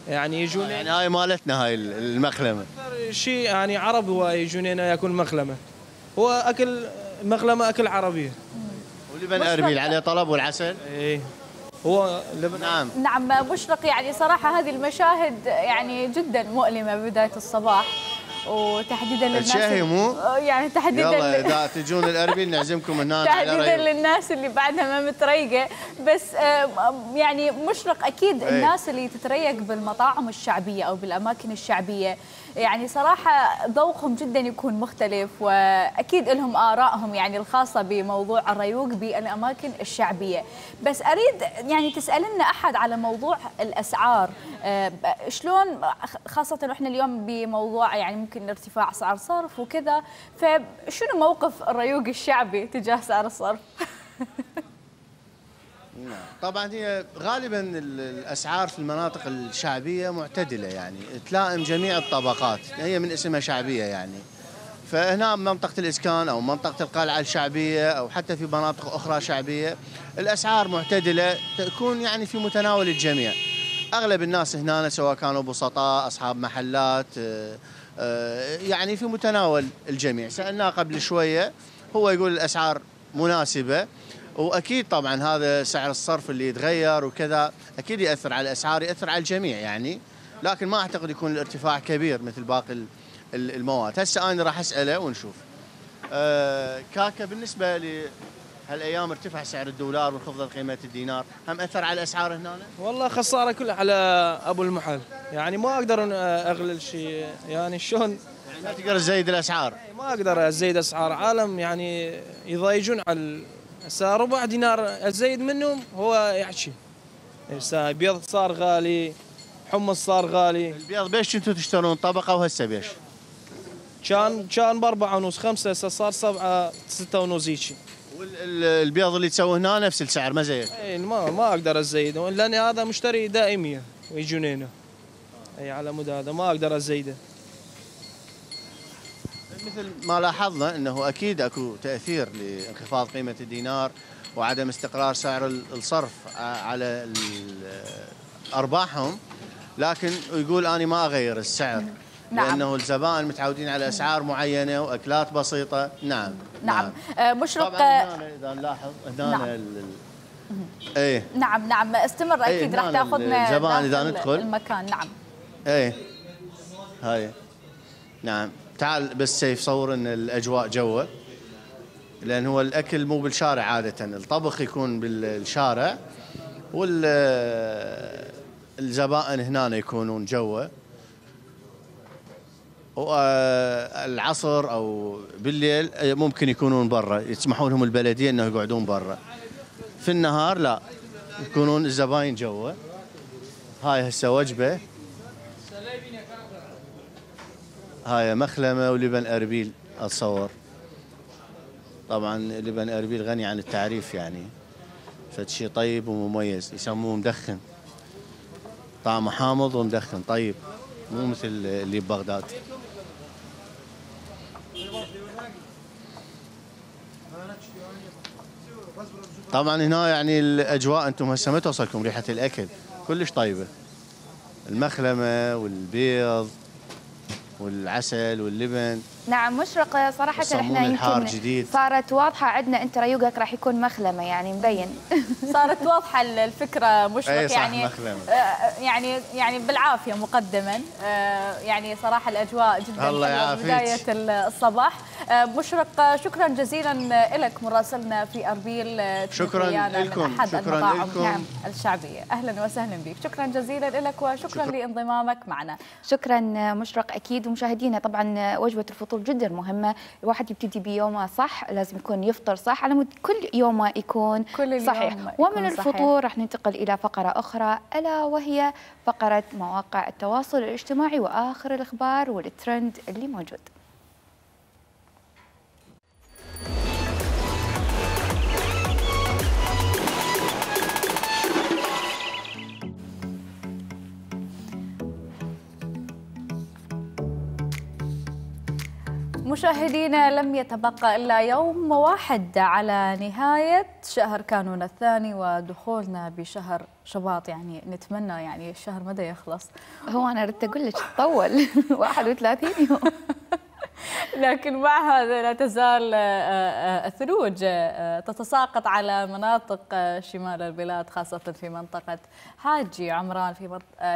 يعني يجون يعني هاي مالتنا هاي المخلمه اكثر شيء يعني عرب هو يجون هنا ياكل مخلمه، هو اكل مغلمه اكل عربيه. ولبن اربيل عليه طلب والعسل؟ ايه هو لبن. نعم مشرق، يعني صراحه هذه المشاهد يعني جدا مؤلمه ببدايه الصباح، وتحديدا للناس يعني تحديدا يلا اذا تجون الاربيل نعزمكم هنا تحديدا للناس اللي بعدها ما متريقه، بس يعني مشرق اكيد الناس اللي تتريق بالمطاعم الشعبيه او بالاماكن الشعبيه يعني صراحه ذوقهم جدا يكون مختلف، واكيد لهم ارائهم يعني الخاصه بموضوع الريوق بالاماكن الشعبيه. بس اريد يعني تسالنا احد على موضوع الاسعار، شلون خاصه احنا اليوم بموضوع يعني ممكن ارتفاع اسعار صرف وكذا، فشنو موقف الريوق الشعبي تجاه سعر الصرف؟ طبعا هي غالبا الاسعار في المناطق الشعبيه معتدله يعني تلائم جميع الطبقات، هي من اسمها شعبيه يعني. فهنا منطقه الاسكان او منطقه القلعه الشعبيه او حتى في مناطق اخرى شعبيه الاسعار معتدله تكون يعني في متناول الجميع. اغلب الناس هنا سواء كانوا بسطاء اصحاب محلات يعني في متناول الجميع. سالناه قبل شويه هو يقول الاسعار مناسبه، واكيد طبعا هذا سعر الصرف اللي يتغير وكذا اكيد ياثر على الاسعار، ياثر على الجميع يعني، لكن ما اعتقد يكون الارتفاع كبير مثل باقي المواد. هسه انا راح اساله ونشوف. كاكا بالنسبه لهالايام ارتفع سعر الدولار وانخفضت قيمه الدينار، هم اثر على الاسعار هنا؟ والله خساره كلها على ابو المحل يعني، ما اقدر اغلل شيء يعني شلون يعني ما تقدر تزيد الاسعار؟ ما اقدر ازيد اسعار، عالم يعني يضايجون على هسه ربع دينار ازيد منهم هو يحكي. هسه بيض صار غالي، حمص صار غالي. البيض بيش كنتوا تشترون طبقه وهسه بيش؟ كان ب4 ونص 5، هسه صار 7 6 ونص هيك. والبيض اللي تسووه هنا نفس السعر ما زيد؟ اي ما اقدر ازيده لان هذا مشتري دائميه ويجون هنا. اي على مود هذا ما اقدر ازيده. مثل ما لاحظنا انه اكيد اكو تاثير لانخفاض قيمه الدينار وعدم استقرار سعر الصرف على ارباحهم، لكن يقول انا ما اغير السعر. نعم. لانه الزبائن متعودين على اسعار معينه واكلات بسيطه. نعم. مشرق طبعا هنا اذا نلاحظ هنا ايه نعم استمر اكيد راح تاخذنا الزبائن اذا ندخل المكان. نعم هاي نعم. تعال بس سيف صور ان الاجواء جوه، لان هو الاكل مو بالشارع عاده، الطبخ يكون بالشارع والزبائن هنا يكونون جوه، والعصر او بالليل ممكن يكونون برا، يسمحوا لهم البلديه انه يقعدون برا. في النهار لا، يكونون الزباين جوا. هاي هسه وجبه، هاي مخلمه ولبن اربيل اتصور. طبعا لبن اربيل غني عن التعريف يعني، فد شيء طيب ومميز، يسموه مدخن، طعمه حامض ومدخن طيب، مو مثل اللي ببغداد. طبعا هنا يعني الاجواء انتم هسه ما توصلكم ريحه الاكل، كلش طيبه، المخلمه والبيض والعسل واللبن. نعم مشرق، صراحة احنا يمكن صارت واضحة عندنا، انت ريوقك راح يكون مخلمة يعني مبين. صارت واضحة الفكرة مشرق يعني مخلمة. يعني بالعافية مقدما، يعني صراحة الأجواء جدا الله حلوة بداية الصباح. مشرق شكرا جزيلا لك مراسلنا في أربيل. شكرا لكم. أحد المطاعم نعم الشعبية. أهلا وسهلا بك. شكرا جزيلا لك وشكرا لانضمامك معنا. شكرا مشرق أكيد. ومشاهدينا طبعا وجبة الفطور جدا مهمة، الواحد يبتدي بيومه صح، لازم يكون يفطر صح على مود كل يومه يكون صحيح. ومن الفطور راح ننتقل إلى فقرة أخرى ألا وهي فقرة مواقع التواصل الاجتماعي وآخر الأخبار والترند اللي موجود. مشاهدينا لم يتبقى إلا يوم واحد على نهاية شهر كانون الثاني ودخولنا بشهر شباط. يعني نتمنى يعني الشهر متى يخلص. هو أنا ردت أقول لك تطول 31 يوم. لكن مع هذا لا تزال الثلوج تتساقط على مناطق شمال البلاد، خاصة في منطقة حاجي عمران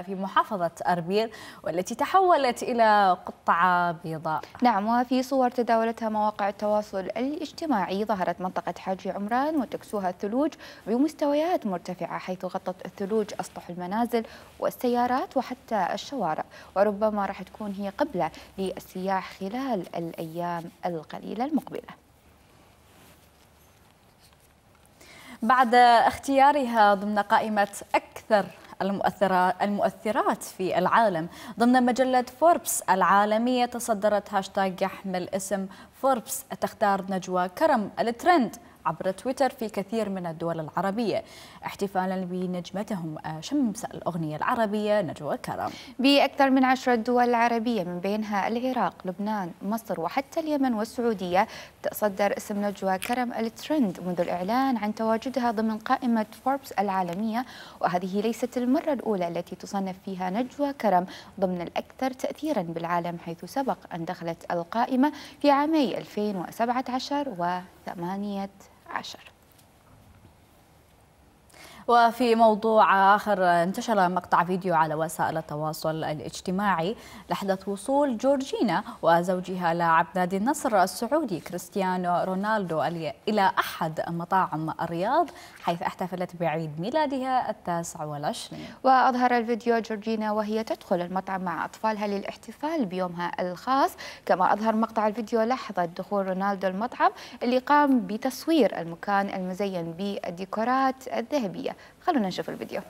في محافظة أربيل، والتي تحولت إلى قطعة بيضاء. نعم، وفي صور تداولتها مواقع التواصل الاجتماعي ظهرت منطقة حاجي عمران وتكسوها الثلوج بمستويات مرتفعة، حيث غطت الثلوج أسطح المنازل والسيارات وحتى الشوارع، وربما راح تكون هي قبلة للسياح خلال الأيام القليلة المقبلة. بعد اختيارها ضمن قائمة أكثر المؤثرات في العالم ضمن مجلة فوربس العالمية، تصدرت هاشتاج يحمل اسم فوربس تختار نجوى كرم الترند عبر تويتر في كثير من الدول العربية، احتفالا بنجمتهم شمس الأغنية العربية نجوى كرم. بأكثر من 10 دول عربية من بينها العراق، لبنان، مصر وحتى اليمن والسعودية تصدر اسم نجوى كرم الترند منذ الإعلان عن تواجدها ضمن قائمة فوربس العالمية، وهذه ليست المرة الأولى التي تصنف فيها نجوى كرم ضمن الأكثر تأثيرا بالعالم، حيث سبق أن دخلت القائمة في عامي 2017 و18. وفي موضوع آخر، انتشر مقطع فيديو على وسائل التواصل الاجتماعي لحظة وصول جورجينا وزوجها لاعب نادي النصر السعودي كريستيانو رونالدو إلى أحد مطاعم الرياض، حيث احتفلت بعيد ميلادها 29. وأظهر الفيديو جورجينا وهي تدخل المطعم مع أطفالها للاحتفال بيومها الخاص، كما أظهر مقطع الفيديو لحظة دخول رونالدو المطعم اللي قام بتصوير المكان المزين بالديكورات الذهبية. خلونا نشوف الفيديو.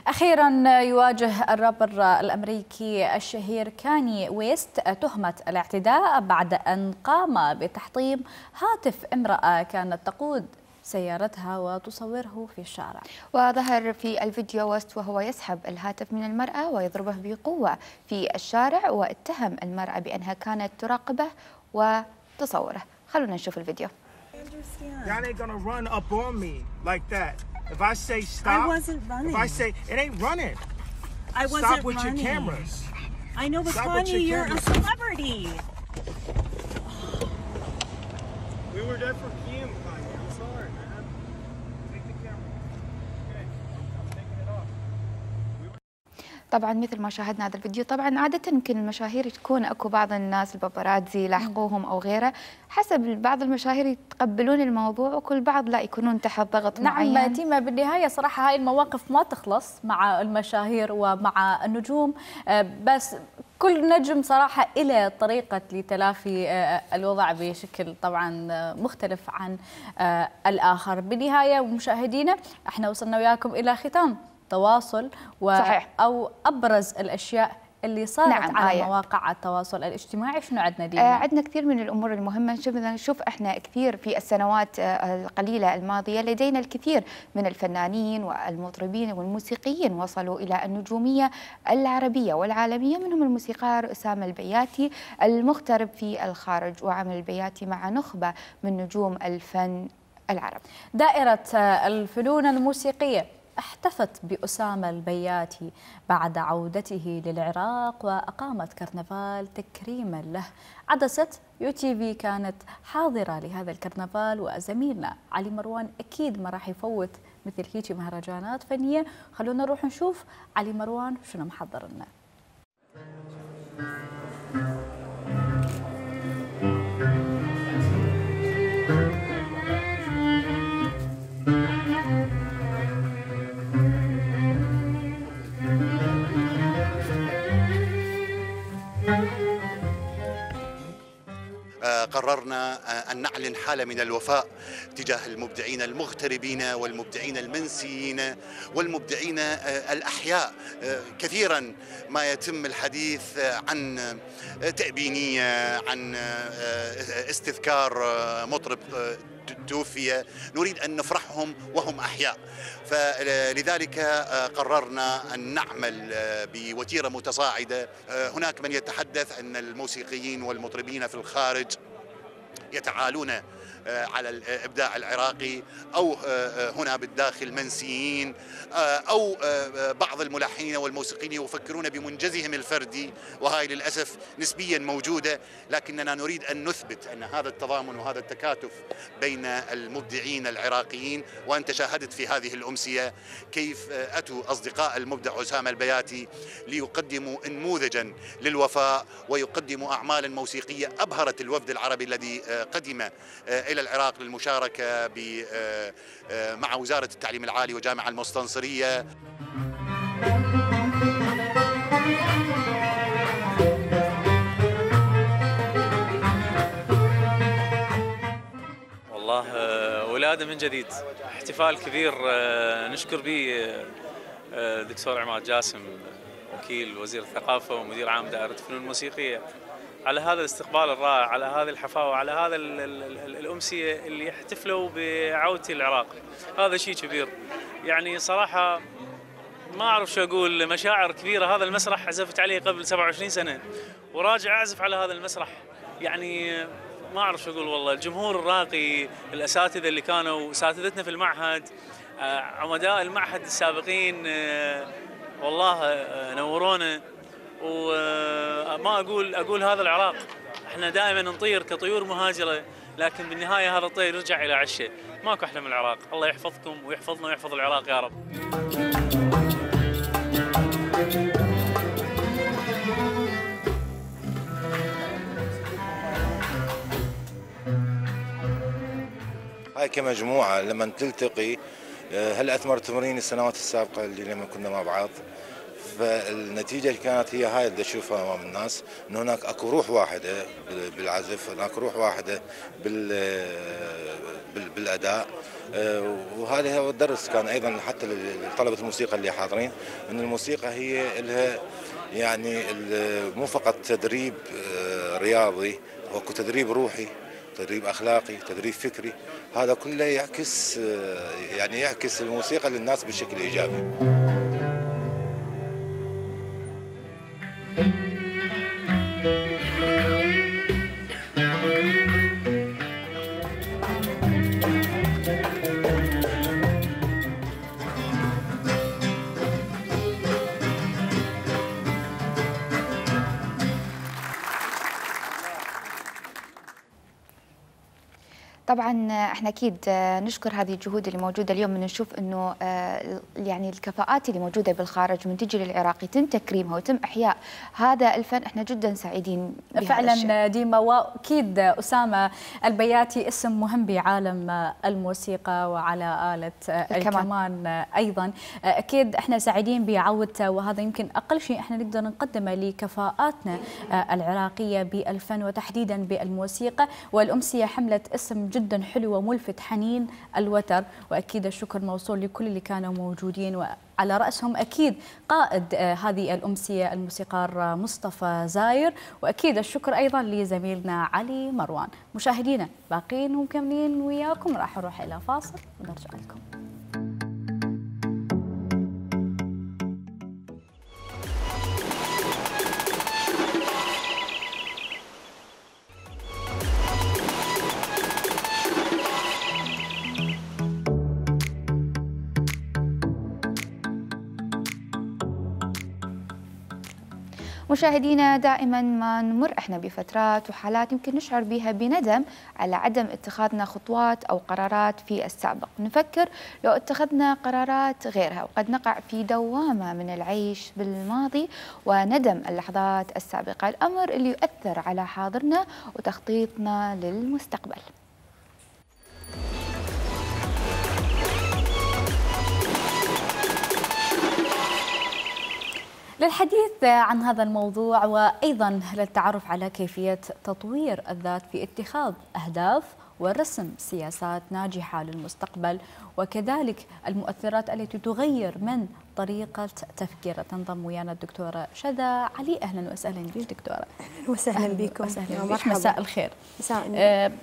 أخيرا يواجه الرابر الأمريكي الشهير كاني ويست تهمة الاعتداء بعد أن قام بتحطيم هاتف امرأة كانت تقود سيارتها وتصوره في الشارع. وظهر في الفيديو ويست وهو يسحب الهاتف من المرأة ويضربه بقوة في الشارع، واتهم المرأة بأنها كانت تراقبه وتصوره. خلونا نشوف الفيديو. Y'all ain't gonna run up on me like that. If I say stop, I wasn't running. If I say it ain't running, I wasn't stop with running. your cameras. I know, but Stop Kanye, you're a celebrity. We were there for Kim, Kanye. I'm sorry, man. Take the camera. Okay, I'm taking it off. طبعا مثل ما شاهدنا هذا الفيديو، طبعا عادة يمكن المشاهير تكون اكو بعض الناس الباباراتزي لاحقوهم او غيره، حسب بعض المشاهير يتقبلون الموضوع وكل بعض لا يكونون تحت ضغط معين. نعم تيما، بالنهاية صراحة هاي المواقف ما تخلص مع المشاهير ومع النجوم، بس كل نجم صراحة إلى طريقة لتلافي الوضع بشكل طبعا مختلف عن الآخر. بالنهاية مشاهدينا احنا وصلنا وياكم إلى ختام تواصل أو أبرز الأشياء اللي صارت على مواقع التواصل الاجتماعي. شنو عندنا دينا؟ عندنا كثير من الأمور المهمة. نشوف احنا كثير في السنوات القليلة الماضية لدينا الكثير من الفنانين والمطربين والموسيقيين وصلوا إلى النجومية العربية والعالمية، منهم الموسيقار أسامة البياتي المغترب في الخارج، وعمل البياتي مع نخبة من نجوم الفن العربي. دائرة الفنون الموسيقية احتفت بأسامة البياتي بعد عودته للعراق وأقامت كرنفال تكريما له. عدسة UTV كانت حاضرة لهذا الكرنفال، وزميلنا علي مروان أكيد ما راح يفوت مثل هيك مهرجانات فنية. خلونا نروح نشوف علي مروان شنو محضر لنا. قررنا أن نعلن حالة من الوفاء تجاه المبدعين المغتربين والمبدعين المنسيين والمبدعين الأحياء. كثيرا ما يتم الحديث عن تأبينية، عن استذكار مطرب توفي، نريد أن نفرحهم وهم أحياء. فلذلك قررنا أن نعمل بوتيرة متصاعدة. هناك من يتحدث أن الموسيقيين والمطربين في الخارج يتعالون على الإبداع العراقي، أو هنا بالداخل منسيين، أو بعض الملحنين والموسيقيين يفكرون بمنجزهم الفردي، وهاي للأسف نسبيا موجودة. لكننا نريد أن نثبت أن هذا التضامن وهذا التكاتف بين المبدعين العراقيين. وأنت شاهدت في هذه الأمسية كيف أتوا أصدقاء المبدع أسامة البياتي ليقدموا نموذجا للوفاء ويقدموا أعمالا موسيقية أبهرت الوفد العربي الذي قدم إلى العراق للمشاركة مع وزارة التعليم العالي وجامعة المستنصرية. والله ولادة من جديد، احتفال كبير نشكر به دكتور عماد جاسم وكيل وزير الثقافة ومدير عام دائرة الفنون الموسيقية على هذا الاستقبال الرائع، على هذه الحفاوة، على هذا الأمسية اللي يحتفلوا بعودة العراق. هذا شيء كبير يعني صراحة، ما أعرف شو أقول، مشاعر كبيرة. هذا المسرح عزفت عليه قبل 27 سنة وراجع أعزف على هذا المسرح، يعني ما أعرف شو أقول. والله الجمهور الراقي، الأساتذة اللي كانوا أساتذتنا في المعهد، عمداء المعهد السابقين، والله نورونا. وما أقول هذا العراق، احنا دائما نطير كطيور مهاجرة، لكن بالنهاية هذا الطير يرجع إلى عشه. ماكو أحلى من العراق. الله يحفظكم ويحفظنا ويحفظ العراق يا رب. هاي كمجموعة لما تلتقي، هل أثمر تمرين السنوات السابقة اللي لما كنا مع بعض، فالنتيجة كانت هي هاي اللي أشوفها أمام الناس، أن هناك أكو روح واحدة بالعزف، هناك روح واحدة بالأداء. وهذا هو الدرس كان أيضا حتى لطلبة الموسيقى اللي حاضرين، أن الموسيقى هي لها يعني مو فقط تدريب رياضي، وأكو تدريب روحي، تدريب أخلاقي، تدريب فكري. هذا كله يعكس الموسيقى للناس بشكل إيجابي. طبعا احنا اكيد نشكر هذه الجهود اللي موجوده اليوم، من نشوف انه يعني الكفاءات اللي موجوده بالخارج من تجي للعراق يتم تكريمها ويتم احياء هذا الفن. احنا جدا سعيدين بهذا فعلا الشيء. ديما. واكيد اسامه البياتي اسم مهم بعالم الموسيقى وعلى آلة الكمان ايضا. اكيد احنا سعيدين بعودته، وهذا يمكن اقل شيء احنا نقدر نقدمه لكفاءاتنا العراقيه بالفن وتحديدا بالموسيقى. والامسيه حملت اسم جدا حلو وملفت، حنين الوتر. واكيد الشكر موصول لكل اللي كانوا موجودين، وعلى راسهم اكيد قائد هذه الامسيه الموسيقار مصطفى زاير، واكيد الشكر ايضا لزميلنا علي مروان. مشاهدينا باقين ومكملين وياكم، راح نروح الى فاصل ونرجع لكم. مشاهدينا دائما ما نمر احنا بفترات وحالات يمكن نشعر بها بندم على عدم اتخاذنا خطوات او قرارات في السابق، نفكر لو اتخذنا قرارات غيرها، وقد نقع في دوامه من العيش بالماضي وندم اللحظات السابقه، الامر اللي يؤثر على حاضرنا وتخطيطنا للمستقبل. للحديث عن هذا الموضوع وأيضا للتعرف على كيفية تطوير الذات في اتخاذ أهداف ورسم سياسات ناجحة للمستقبل، وكذلك المؤثرات التي تغير من طريقة تفكير، تنضم ويانا الدكتورة شذى علي. أهلا وسهلا بك دكتورة. أهلا وسهلا بكم. مرحبا. مساء الخير.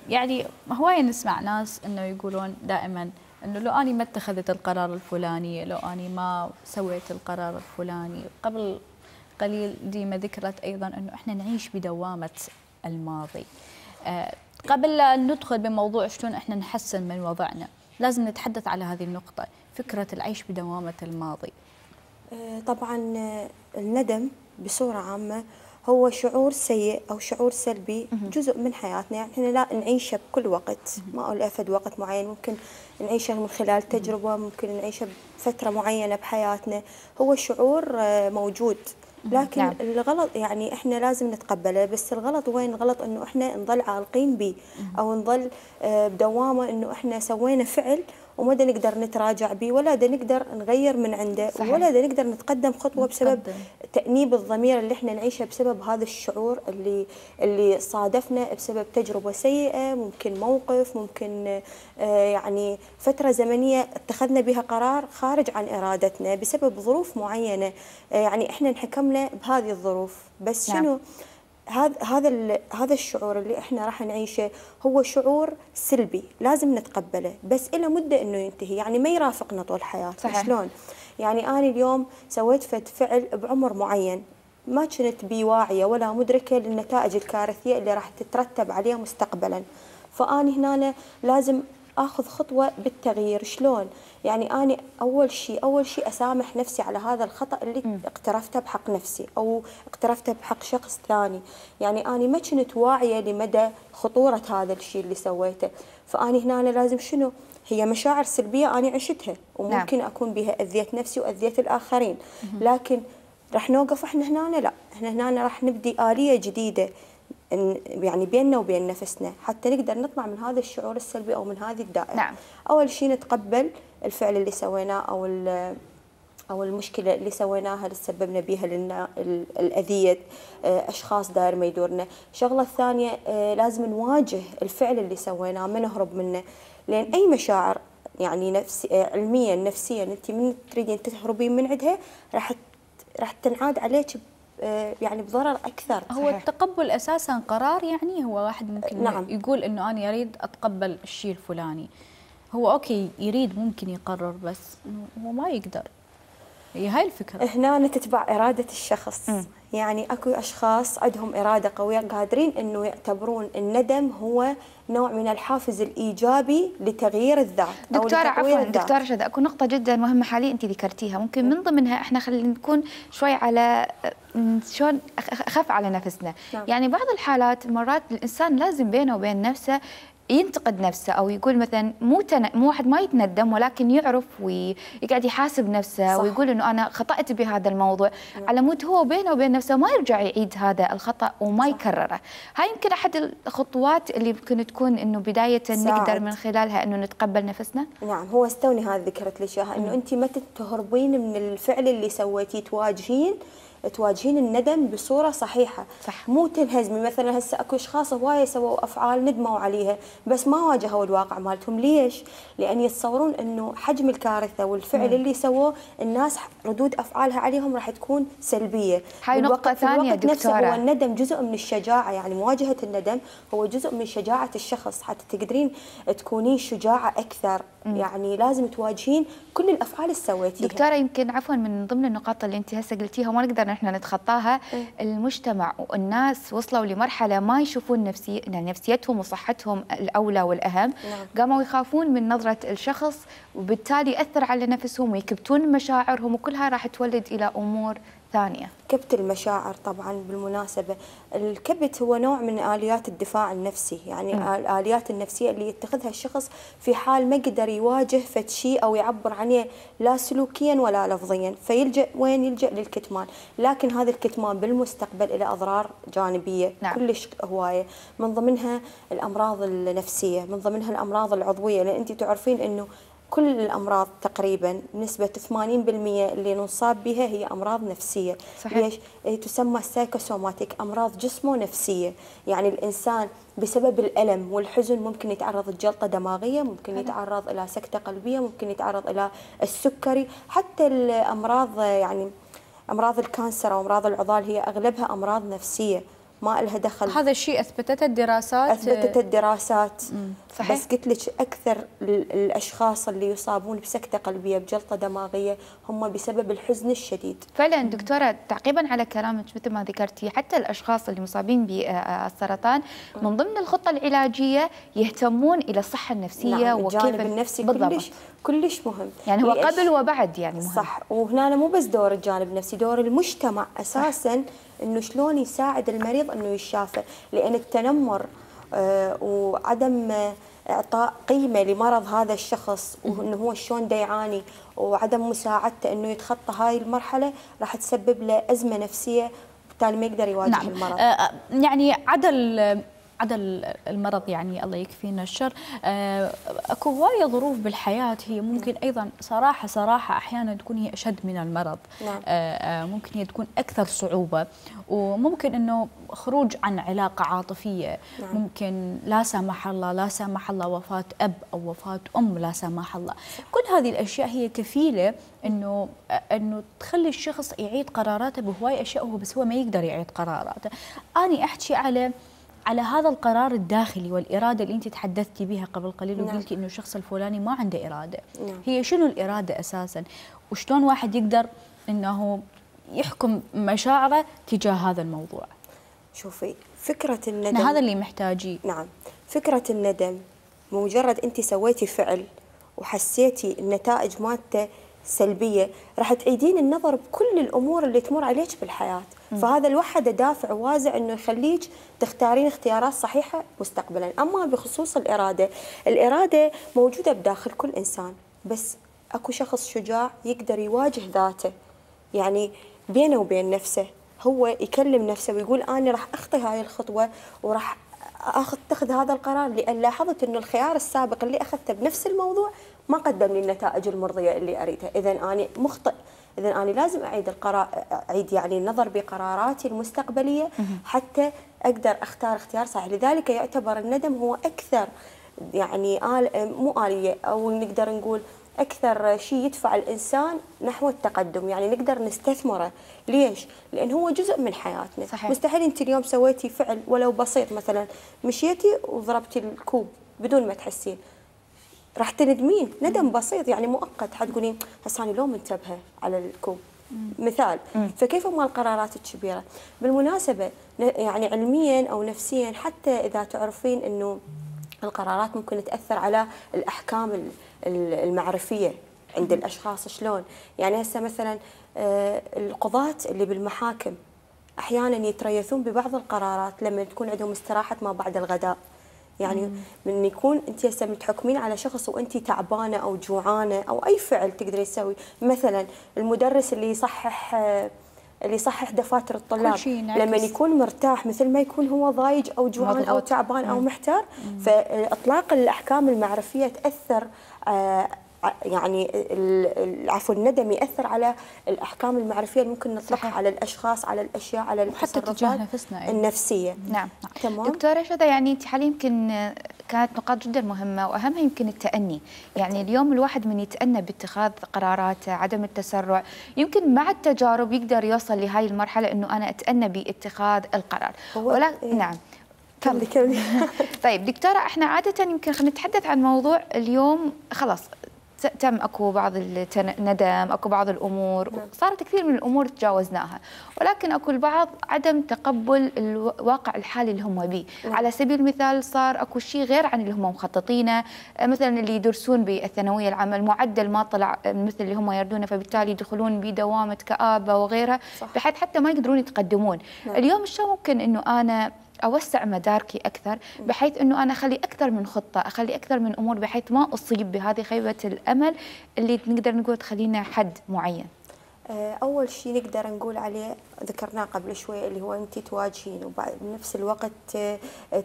يعني هواية نسمع ناس أنه يقولون دائما أنه لو أني ما اتخذت القرار الفلاني، لو أني ما سويت القرار الفلاني. قبل قليل ديما ذكرت أيضا أنه إحنا نعيش بدوامة الماضي. قبل أن ندخل بموضوع شلون إحنا نحسن من وضعنا، لازم نتحدث على هذه النقطة، فكرة العيش بدوامة الماضي. طبعا الندم بصورة عامة هو شعور سيء أو شعور سلبي، جزء من حياتنا، يعني احنا لا نعيشه بكل وقت، ما أقول أفد وقت معين، ممكن نعيشه من خلال تجربة، ممكن نعيشه بفترة معينة بحياتنا، هو شعور موجود، لكن نعم. الغلط يعني احنا لازم نتقبله، بس الغلط وين؟ الغلط انه احنا نظل عالقين به او نظل بدوامه انه احنا سوينا فعل وما نقدر نتراجع به، ولا نقدر نغير من عنده، صحيح. ولا نقدر نتقدم خطوه بسبب تأنيب الضمير اللي احنا نعيشه بسبب هذا الشعور اللي صادفنا بسبب تجربه سيئه، ممكن موقف، ممكن يعني فتره زمنيه اتخذنا بها قرار خارج عن ارادتنا بسبب ظروف معينه، يعني احنا انحكمنا بهذه الظروف، بس نعم. شنو هذا الشعور اللي احنا راح نعيشه هو شعور سلبي لازم نتقبله، بس إلى مدة انه ينتهي، يعني ما يرافقنا طول الحياة. صحيح. شلون؟ يعني أنا اليوم سويت فعل بعمر معين ما كنت بي واعية ولا مدركة للنتائج الكارثية اللي راح تترتب عليها مستقبلا، فأنا هنا لازم اخذ خطوه بالتغيير. شلون؟ يعني انا اول شيء اسامح نفسي على هذا الخطا اللي اقترفته بحق نفسي او اقترفته بحق شخص ثاني، يعني انا ما كنت واعيه لمدى خطوره هذا الشيء اللي سويته، فاني هنا لازم شنو؟ هي مشاعر سلبيه انا عشتها وممكن اكون بها اذيت نفسي واذيت الاخرين، لكن راح نوقف احنا هنا؟ لا، احنا هنا راح نبدي آلية جديده يعني بيننا وبين نفسنا حتى نقدر نطلع من هذا الشعور السلبي او من هذه الدائره. نعم. اول شيء نتقبل الفعل اللي سويناه او المشكله اللي سويناها اللي سببنا بها لنا الاذيه اشخاص داير ما يدورنا. الشغله الثانيه لازم نواجه الفعل اللي سويناه، ما نهرب منه، لان اي مشاعر يعني علميا نفسيا انت من تريدين تهربين من عندها راح تنعاد عليك يعني بضرر اكثر. هو التقبل اساسا قرار، يعني هو واحد ممكن نعم. يقول انه انا اريد اتقبل الشيء الفلاني، هو اوكي يريد ممكن يقرر بس هو ما يقدر. هي هاي الفكره. هنا تتبع اراده الشخص. يعني اكو اشخاص عندهم اراده قويه قادرين انه يعتبرون الندم هو نوع من الحافز الايجابي لتغيير الذات. دكتوره عفوا دكتوره شذى، اكو نقطه جدا مهمه حاليا انت ذكرتيها، ممكن من ضمنها احنا خلينا نكون شوي على شلون اخف على نفسنا. نعم. يعني بعض الحالات مرات الانسان لازم بينه وبين نفسه ينتقد نفسه او يقول مثلا مو واحد ما يتندم ولكن يعرف ويقعد يحاسب نفسه. صح. ويقول انه انا خطأت بهذا الموضوع. نعم. على مود هو بينه وبين نفسه ما يرجع يعيد هذا الخطأ وما صح. يكرره. هاي يمكن احد الخطوات اللي ممكن تكون انه بدايه نقدر من خلالها انه نتقبل نفسنا. نعم، هو استوني هذه ذكرت لي اياها، انه انت ما تهربين من الفعل اللي سويتيه، تواجهين الندم بصوره صحيحه. صح. مو تنهزمي. مثلا هسه اكو اشخاص هوايه سووا افعال ندموا عليها بس ما واجهوا الواقع مالتهم. ليش؟ لان يتصورون انه حجم الكارثه والفعل اللي سووه الناس ردود افعالها عليهم راح تكون سلبيه. هاي نقطه ثانيه دكتوره. هو الندم جزء من الشجاعه، يعني مواجهه الندم هو جزء من شجاعه الشخص، حتى تقدرين تكونين شجاعه اكثر. يعني لازم تواجهين كل الافعال اللي سويتيها. دكتوره يمكن عفوا من ضمن النقاط اللي انت هسه قلتيها وما نقدر نحن نتخطاها، المجتمع والناس وصلوا لمرحله ما يشوفون نفسيتهم وصحتهم الاولى والاهم. نعم. قاموا يخافون من نظره الشخص وبالتالي ياثر على نفسهم ويكبتون مشاعرهم، وكلها راح تولد الى امور ثانية. كبت المشاعر طبعا بالمناسبة. الكبت هو نوع من آليات الدفاع النفسي، يعني الآليات النفسية اللي يتخذها الشخص في حال ما قدر يواجه فد شيء أو يعبر عنه لا سلوكيا ولا لفظيا، فيلجأ وين؟ يلجأ للكتمان. لكن هذا الكتمان بالمستقبل له أضرار جانبية كلش هواية، من ضمنها الأمراض النفسية، من ضمنها الأمراض العضوية، لأن أنت تعرفين أنه كل الأمراض تقريبا نسبة 80% اللي نصاب بها هي أمراض نفسية. صحيح. ليش؟ تسمى سايكوسوماتيك، أمراض جسمه نفسية. يعني الإنسان بسبب الألم والحزن ممكن يتعرض لجلطة دماغية، ممكن يتعرض إلى سكتة قلبية، ممكن يتعرض إلى السكري، حتى الأمراض يعني أمراض الكانسر أو أمراض العضال هي أغلبها أمراض نفسية ما لها دخل. هذا الشيء أثبتت الدراسات. أثبتت الدراسات. صحيح. بس قلت لك أكثر الأشخاص اللي يصابون بسكتة قلبية بجلطة دماغية هم بسبب الحزن الشديد. فعلا دكتورة، تعقيبا على كلامك مثل ما ذكرتي، حتى الأشخاص اللي مصابين بالسرطان من ضمن الخطة العلاجية يهتمون إلى الصحة النفسية. نعم، الجانب النفسي كلش مهم. يعني هو قبل وبعد يعني مهم. صح. وهنا مو بس دور الجانب النفسي، دور المجتمع أساسا انه شلون يساعد المريض انه يشافى، لان التنمر وعدم اعطاء قيمه لمرض هذا الشخص وانه هو شلون دا يعاني وعدم مساعدته انه يتخطى هاي المرحله راح تسبب له ازمه نفسيه، بالتالي ما يقدر يواجه المرض. يعني عدل المرض، يعني الله يكفينا الشر. اكو هوايه ظروف بالحياه هي ممكن ايضا صراحه احيانا تكون هي اشد من المرض. نعم. ممكن هي تكون اكثر صعوبه، وممكن انه خروج عن علاقه عاطفيه. نعم. ممكن لا سمح الله وفاه اب او وفاه ام لا سمح الله. كل هذه الاشياء هي كفيله انه تخلي الشخص يعيد قراراته بهواي اشياء بس هو ما يقدر يعيد قراراته. اني احكي على هذا القرار الداخلي والإرادة اللي أنت تحدثتي بها قبل قليل وقلتي إنه الشخص الفلاني ما عنده إرادة. هي شنو الإرادة أساساً؟ وشلون واحد يقدر إنه يحكم مشاعره تجاه هذا الموضوع؟ شوفي، فكرة الندم هذا اللي محتاجيه. نعم، فكرة الندم مجرد أنت سويتي فعل وحسيتي النتائج مالته سلبية، راح تعيدين النظر بكل الأمور اللي تمر عليك بالحياة. فهذا لوحده دافع وازع انه يخليك تختارين اختيارات صحيحه مستقبلا. اما بخصوص الاراده موجوده بداخل كل انسان، بس اكو شخص شجاع يقدر يواجه ذاته، يعني بينه وبين نفسه هو يكلم نفسه ويقول انا راح اخطي هاي الخطوه وراح اتخذ هذا القرار، لان لاحظت انه الخيار السابق اللي اخذته بنفس الموضوع ما قدم لي النتائج المرضيه اللي اريدها، اذا انا مخطئ، إذا أنا لازم أعيد يعني النظر بقراراتي المستقبلية حتى أقدر أختار اختيار صحيح. لذلك يعتبر الندم هو أكثر يعني مو آلية، أو نقدر نقول أكثر شيء يدفع الإنسان نحو التقدم، يعني نقدر نستثمره. ليش؟ لأن هو جزء من حياتنا. صحيح. مستحيل أنت اليوم سويتي فعل ولو بسيط، مثلا مشيتي وضربتي الكوب بدون ما تحسين، راح تندمين ندم بسيط يعني مؤقت، حتقولين هسه انا لو منتبهه على الكوب مثال. فكيف مال القرارات الكبيره؟ بالمناسبه يعني علميا او نفسيا، حتى اذا تعرفين انه القرارات ممكن تاثر على الاحكام المعرفيه عند الاشخاص. شلون؟ يعني هسه مثلا القضاة اللي بالمحاكم احيانا يتريثون ببعض القرارات لما تكون عندهم استراحه ما بعد الغداء. يعني من يكون انت هسه متحكمين على شخص وانت تعبانه او جوعانه او اي فعل تقدري تسوي، مثلا المدرس اللي يصحح دفاتر الطلاب لما يكون مرتاح مثل ما يكون هو ضايج او جوعان او تعبان او محتار. فاطلاق الاحكام المعرفيه تاثر يعني عفوا الندم ياثر على الاحكام المعرفيه اللي ممكن نطلقها على الاشخاص، على الاشياء، على التصرفات النفسيه. نعم. تمام. دكتوره شذا، يعني انت حاليا يمكن كانت نقاط جدا مهمه واهمها يمكن التأني. يعني اليوم الواحد من يتأنى باتخاذ قراراته، عدم التسرع، يمكن مع التجارب يقدر يوصل لهاي المرحله انه انا اتأنى باتخاذ القرار. نعم. كملي. طيب دكتوره، احنا عاده يمكن خلينا نتحدث عن موضوع اليوم، خلاص تم اكو بعض الندم، اكو بعض الامور صارت كثير من الامور تجاوزناها، ولكن اكو البعض عدم تقبل الواقع الحالي اللي هم به. على سبيل المثال صار اكو شيء غير عن اللي هم مخططينه، مثلا اللي يدرسون بالثانويه العامه المعدل ما طلع مثل اللي هم يردونه، فبالتالي يدخلون بدوامه كآبه وغيرها، بحيث حتى ما يقدرون يتقدمون. اليوم شلون ممكن انه انا اوسع مداركي اكثر، بحيث انه انا اخلي اكثر من خطه، اخلي اكثر من امور، بحيث ما اصيب بهذه خيبه الامل اللي نقدر نقول تخلينا حد معين؟ اول شيء نقدر نقول عليه ذكرناه قبل شوي، اللي هو انت تواجهين وبعد بنفس الوقت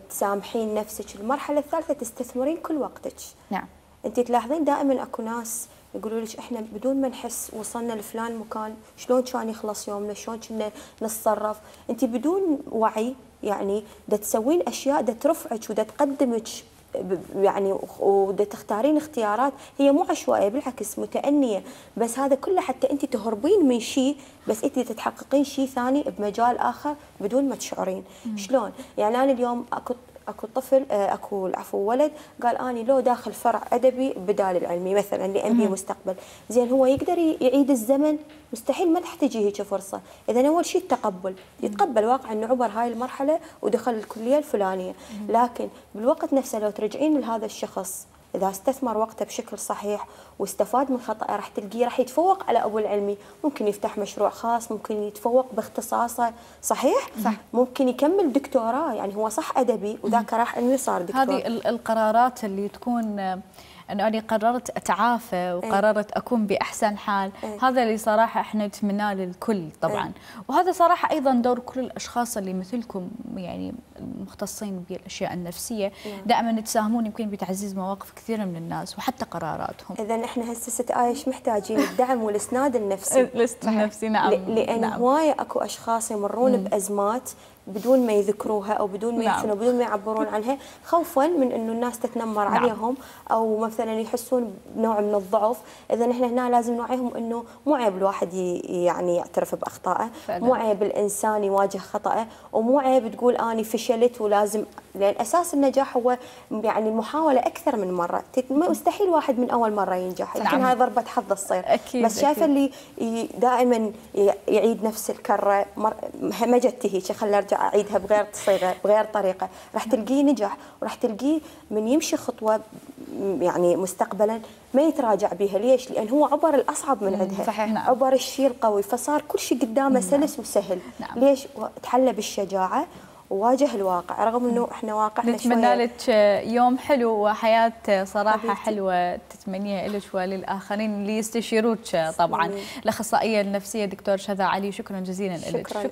تسامحين نفسك. المرحله الثالثه تستثمرين كل وقتك. نعم. انت تلاحظين دائما اكو ناس يقولوا لك احنا بدون ما نحس وصلنا لفلان مكان، شلون كان يخلص يومنا، شلون كنا نتصرف. انت بدون وعي يعني دا تسوين اشياء دا ترفعك ودا تقدمك يعني، ودا تختارين اختيارات هي مو عشوائيه، بالعكس متأنيه، بس هذا كله حتى انت تهربين من شيء، بس انت تتحققين شيء ثاني بمجال اخر بدون ما تشعرين. شلون؟ يعني انا اليوم اكو طفل عفوا ولد قال اني لو داخل فرع ادبي بدال العلمي مثلا لانبي مستقبل، زين هو يقدر يعيد الزمن؟ مستحيل، ما راح تجي هيك فرصه. اذا اول شيء التقبل، يتقبل واقع انه عبر هاي المرحله ودخل الكليه الفلانيه، لكن بالوقت نفسه لو ترجعين لهذا الشخص اذا استثمر وقته بشكل صحيح واستفاد من خطأه، راح تلقيه راح يتفوق على ابو العلمي، ممكن يفتح مشروع خاص، ممكن يتفوق باختصاصه، صحيح؟ صح. ممكن يكمل دكتوراه، يعني هو صح ادبي وذاك راح علمي صار دكتور. هذه القرارات اللي تكون انه انا قررت اتعافى وقررت اكون باحسن حال، هذا اللي صراحه احنا نتمناه للكل طبعا. وهذا صراحه ايضا دور كل الاشخاص اللي مثلكم يعني المختصين بالاشياء النفسيه، دائما تساهمون يمكن بتعزيز مواقف كثيره من الناس وحتى قراراتهم. اذا احنا هسه ست عايش محتاجين الدعم والاسناد النفسي. الاسناد النفسي نعم. لان هوايه اكو اشخاص يمرون بازمات بدون ما يذكروها او بدون ما يحسنوا، بدون ما يعبرون عنها، خوفا من انه الناس تتنمر عليهم او مثلا يحسون بنوع من الضعف. اذا احنا هنا لازم نوعيهم انه مو عيب الواحد يعني يعترف باخطائه، مو عيب الانسان يواجه خطأه، ومو عيب تقول اني فشلت ولازم، لان اساس النجاح هو يعني المحاوله اكثر من مره. مستحيل واحد من اول مره ينجح، يمكن هاي ضربه حظ تصير، بس شايفه اللي دائما يعيد نفس الكره، ما جت هيك خليني ارجع اعيدها بغير صيغه بغير طريقه، راح تلقيه نجح، وراح تلقيه من يمشي خطوه يعني مستقبلا ما يتراجع بها. ليش؟ لان هو عبر الاصعب من عندها، صحيح. عبر الشيء القوي، فصار كل شيء قدامه سلس وسهل. ليش؟ تحلى بالشجاعه وواجه الواقع، رغم انه احنا واقعنا نتمنى لك يوم حلو وحياه صراحه حلوه تتمنيها لك وللاخرين اللي يستشيروك طبعا. الاخصائيه النفسيه دكتور شذا علي، شكرا جزيلا لك. شكرا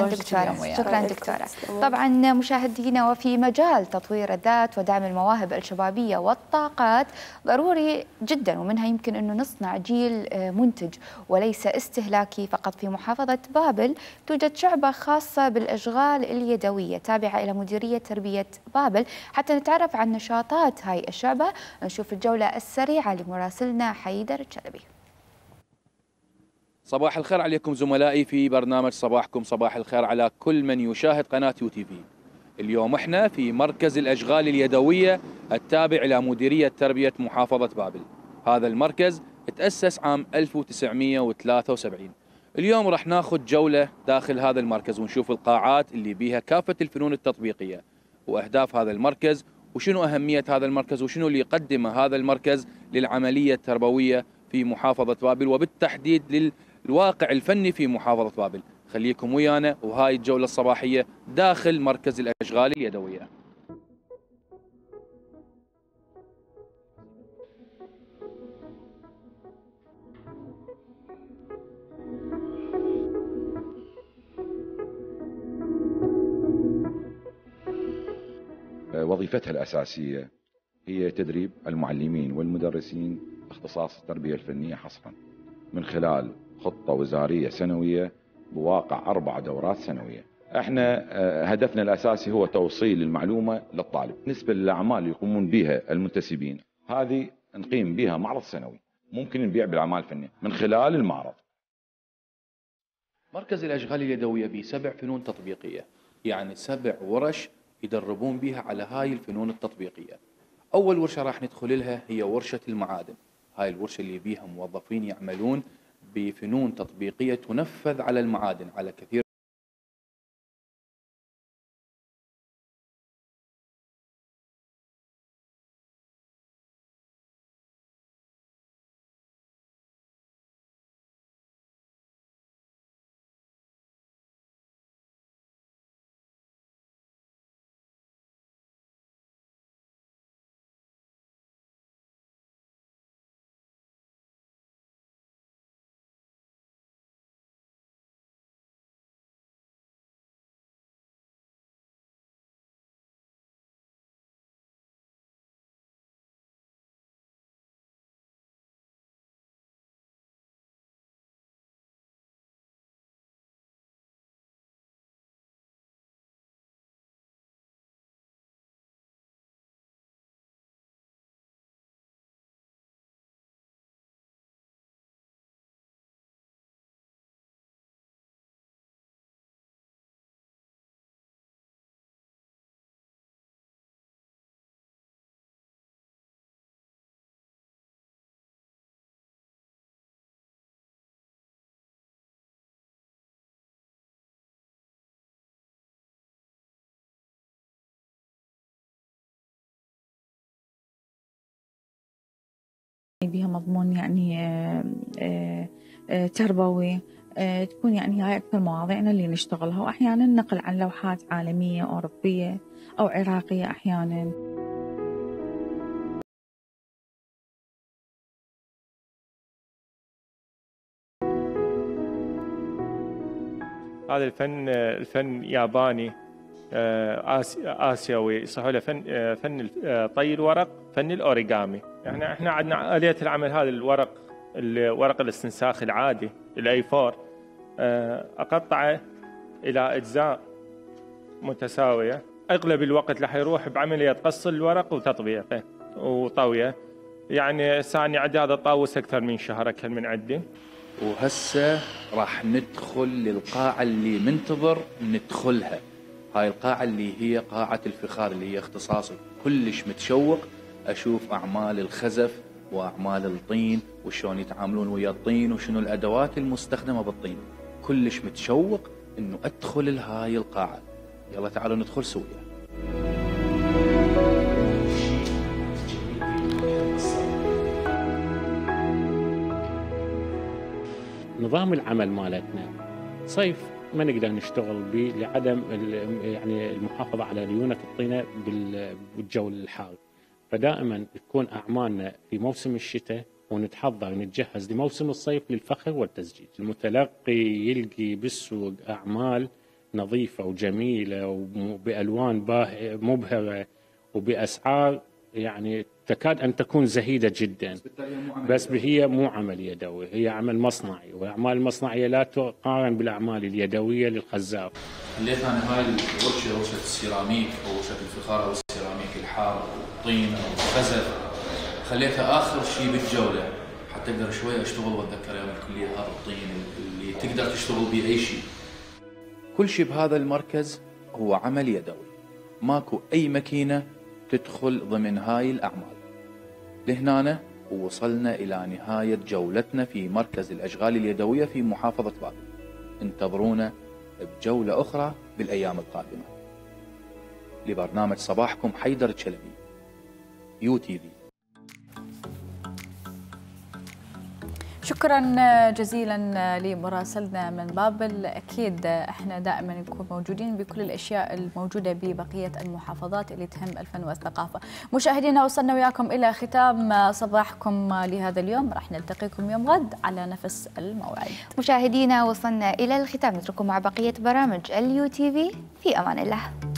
دكتوره. شكرا دكتوره. طبعا مشاهدينا، وفي مجال تطوير الذات ودعم المواهب الشبابيه والطاقات ضروري جدا، ومنها يمكن انه نصنع جيل منتج وليس استهلاكي فقط. في محافظه بابل توجد شعبه خاصه بالاشغال اليدويه تابعة إلى مديرية تربية بابل. حتى نتعرف عن نشاطات هاي الشعبة نشوف الجولة السريعة لمراسلنا حيدر الشلبي. صباح الخير عليكم زملائي في برنامج صباحكم صباح الخير على كل من يشاهد قناة UTV. اليوم احنا في مركز الأشغال اليدوية التابع إلى مديرية تربية محافظة بابل. هذا المركز تأسس عام 1973. اليوم راح ناخذ جولة داخل هذا المركز ونشوف القاعات اللي بيها كافة الفنون التطبيقية وأهداف هذا المركز وشنو أهمية هذا المركز وشنو اللي يقدمه هذا المركز للعملية التربوية في محافظة بابل وبالتحديد للواقع الفني في محافظة بابل. خليكم ويانا وهاي الجولة الصباحية داخل مركز الأشغال اليدوية. وظيفتها الأساسية هي تدريب المعلمين والمدرسين باختصاص التربية الفنية حصرا من خلال خطة وزارية سنوية بواقع 4 دورات سنوية. احنا هدفنا الأساسي هو توصيل المعلومة للطالب. بالنسبة للأعمال اللي يقومون بها المنتسبين، هذه نقيم بها معرض سنوي ممكن نبيع بالأعمال الفنية من خلال المعرض. مركز الأشغال اليدوية ب7 فنون تطبيقية، يعني 7 ورش يدربون بها على هاي الفنون التطبيقية. أول ورشة راح ندخل لها هي ورشة المعادن. هاي الورشة اللي بيها موظفين يعملون بفنون تطبيقية تنفذ على المعادن، على كثير بها مضمون يعني تربوي، تكون يعني هاي أكثر مواضيعنا اللي نشتغلها، وأحيانا نقل عن لوحات عالمية أوروبية أو عراقية أحيانا. هذا الفن ياباني آسيوي، يصحوا له فن طي الورق، فن الأوريغامي. يعني احنا عندنا آلية العمل هذا الورق، ورق الاستنساخ العادي الاي 4، أقطعه إلى أجزاء متساوية. أغلب الوقت راح يروح بعملية قص الورق وتطبيقه وطويه. يعني ثاني عندي هذا طاووس أكثر من شهر أكل من عندي. وهسه راح ندخل للقاعة اللي منتظر ندخلها. هاي القاعة اللي هي قاعة الفخار، اللي هي اختصاصي. كلش متشوق أشوف أعمال الخزف وأعمال الطين وشون يتعاملون ويا الطين وشنو الأدوات المستخدمة بالطين. كلش متشوق إنه أدخل لهاي القاعة. يلا تعالوا ندخل سويا. نظام العمل مالتنا صيف ما نقدر نشتغل به لعدم يعني المحافظة على ليونة الطينة بالجو الحار، فدائما تكون أعمالنا في موسم الشتاء ونتحضر نتجهز لموسم الصيف للفخر والتزجيج. المتلقي يلقي بالسوق أعمال نظيفة وجميلة وبألوان مبهرة وبأسعار يعني تكاد أن تكون زهيدة جدا، بس هي مو عمل يدوي، هي عمل مصنعي، والأعمال المصنعية لا تقارن بالأعمال اليدوية للخزاف. خليت أنا هاي الورشة، ورشة السيراميك أو ورشة الفخار أو السيراميك الحار أو الطين أو الخزف، خليتها آخر شيء بالجولة حتى أقدر شوي أشتغل وأتذكر أيام الكلية هذا الطين اللي تقدر تشتغل به أي شيء. كل شيء بهذا المركز هو عمل يدوي، ماكو أي ماكينة تدخل ضمن هاي الأعمال. لهنا ووصلنا إلى نهاية جولتنا في مركز الأشغال اليدوية في محافظة بابل. انتظرونا بجولة أخرى بالأيام القادمة. لبرنامج صباحكم حيدر الشلبي، UTV. شكرا جزيلا لمراسلنا من بابل. أكيد احنا دائما نكون موجودين بكل الأشياء الموجودة ببقية المحافظات اللي تهم الفن والثقافة. مشاهدينا وصلنا وياكم إلى ختام صباحكم لهذا اليوم، راح نلتقيكم يوم غد على نفس الموعد. مشاهدينا وصلنا إلى الختام، نترككم مع بقية برامج اليو تي في. في أمان الله.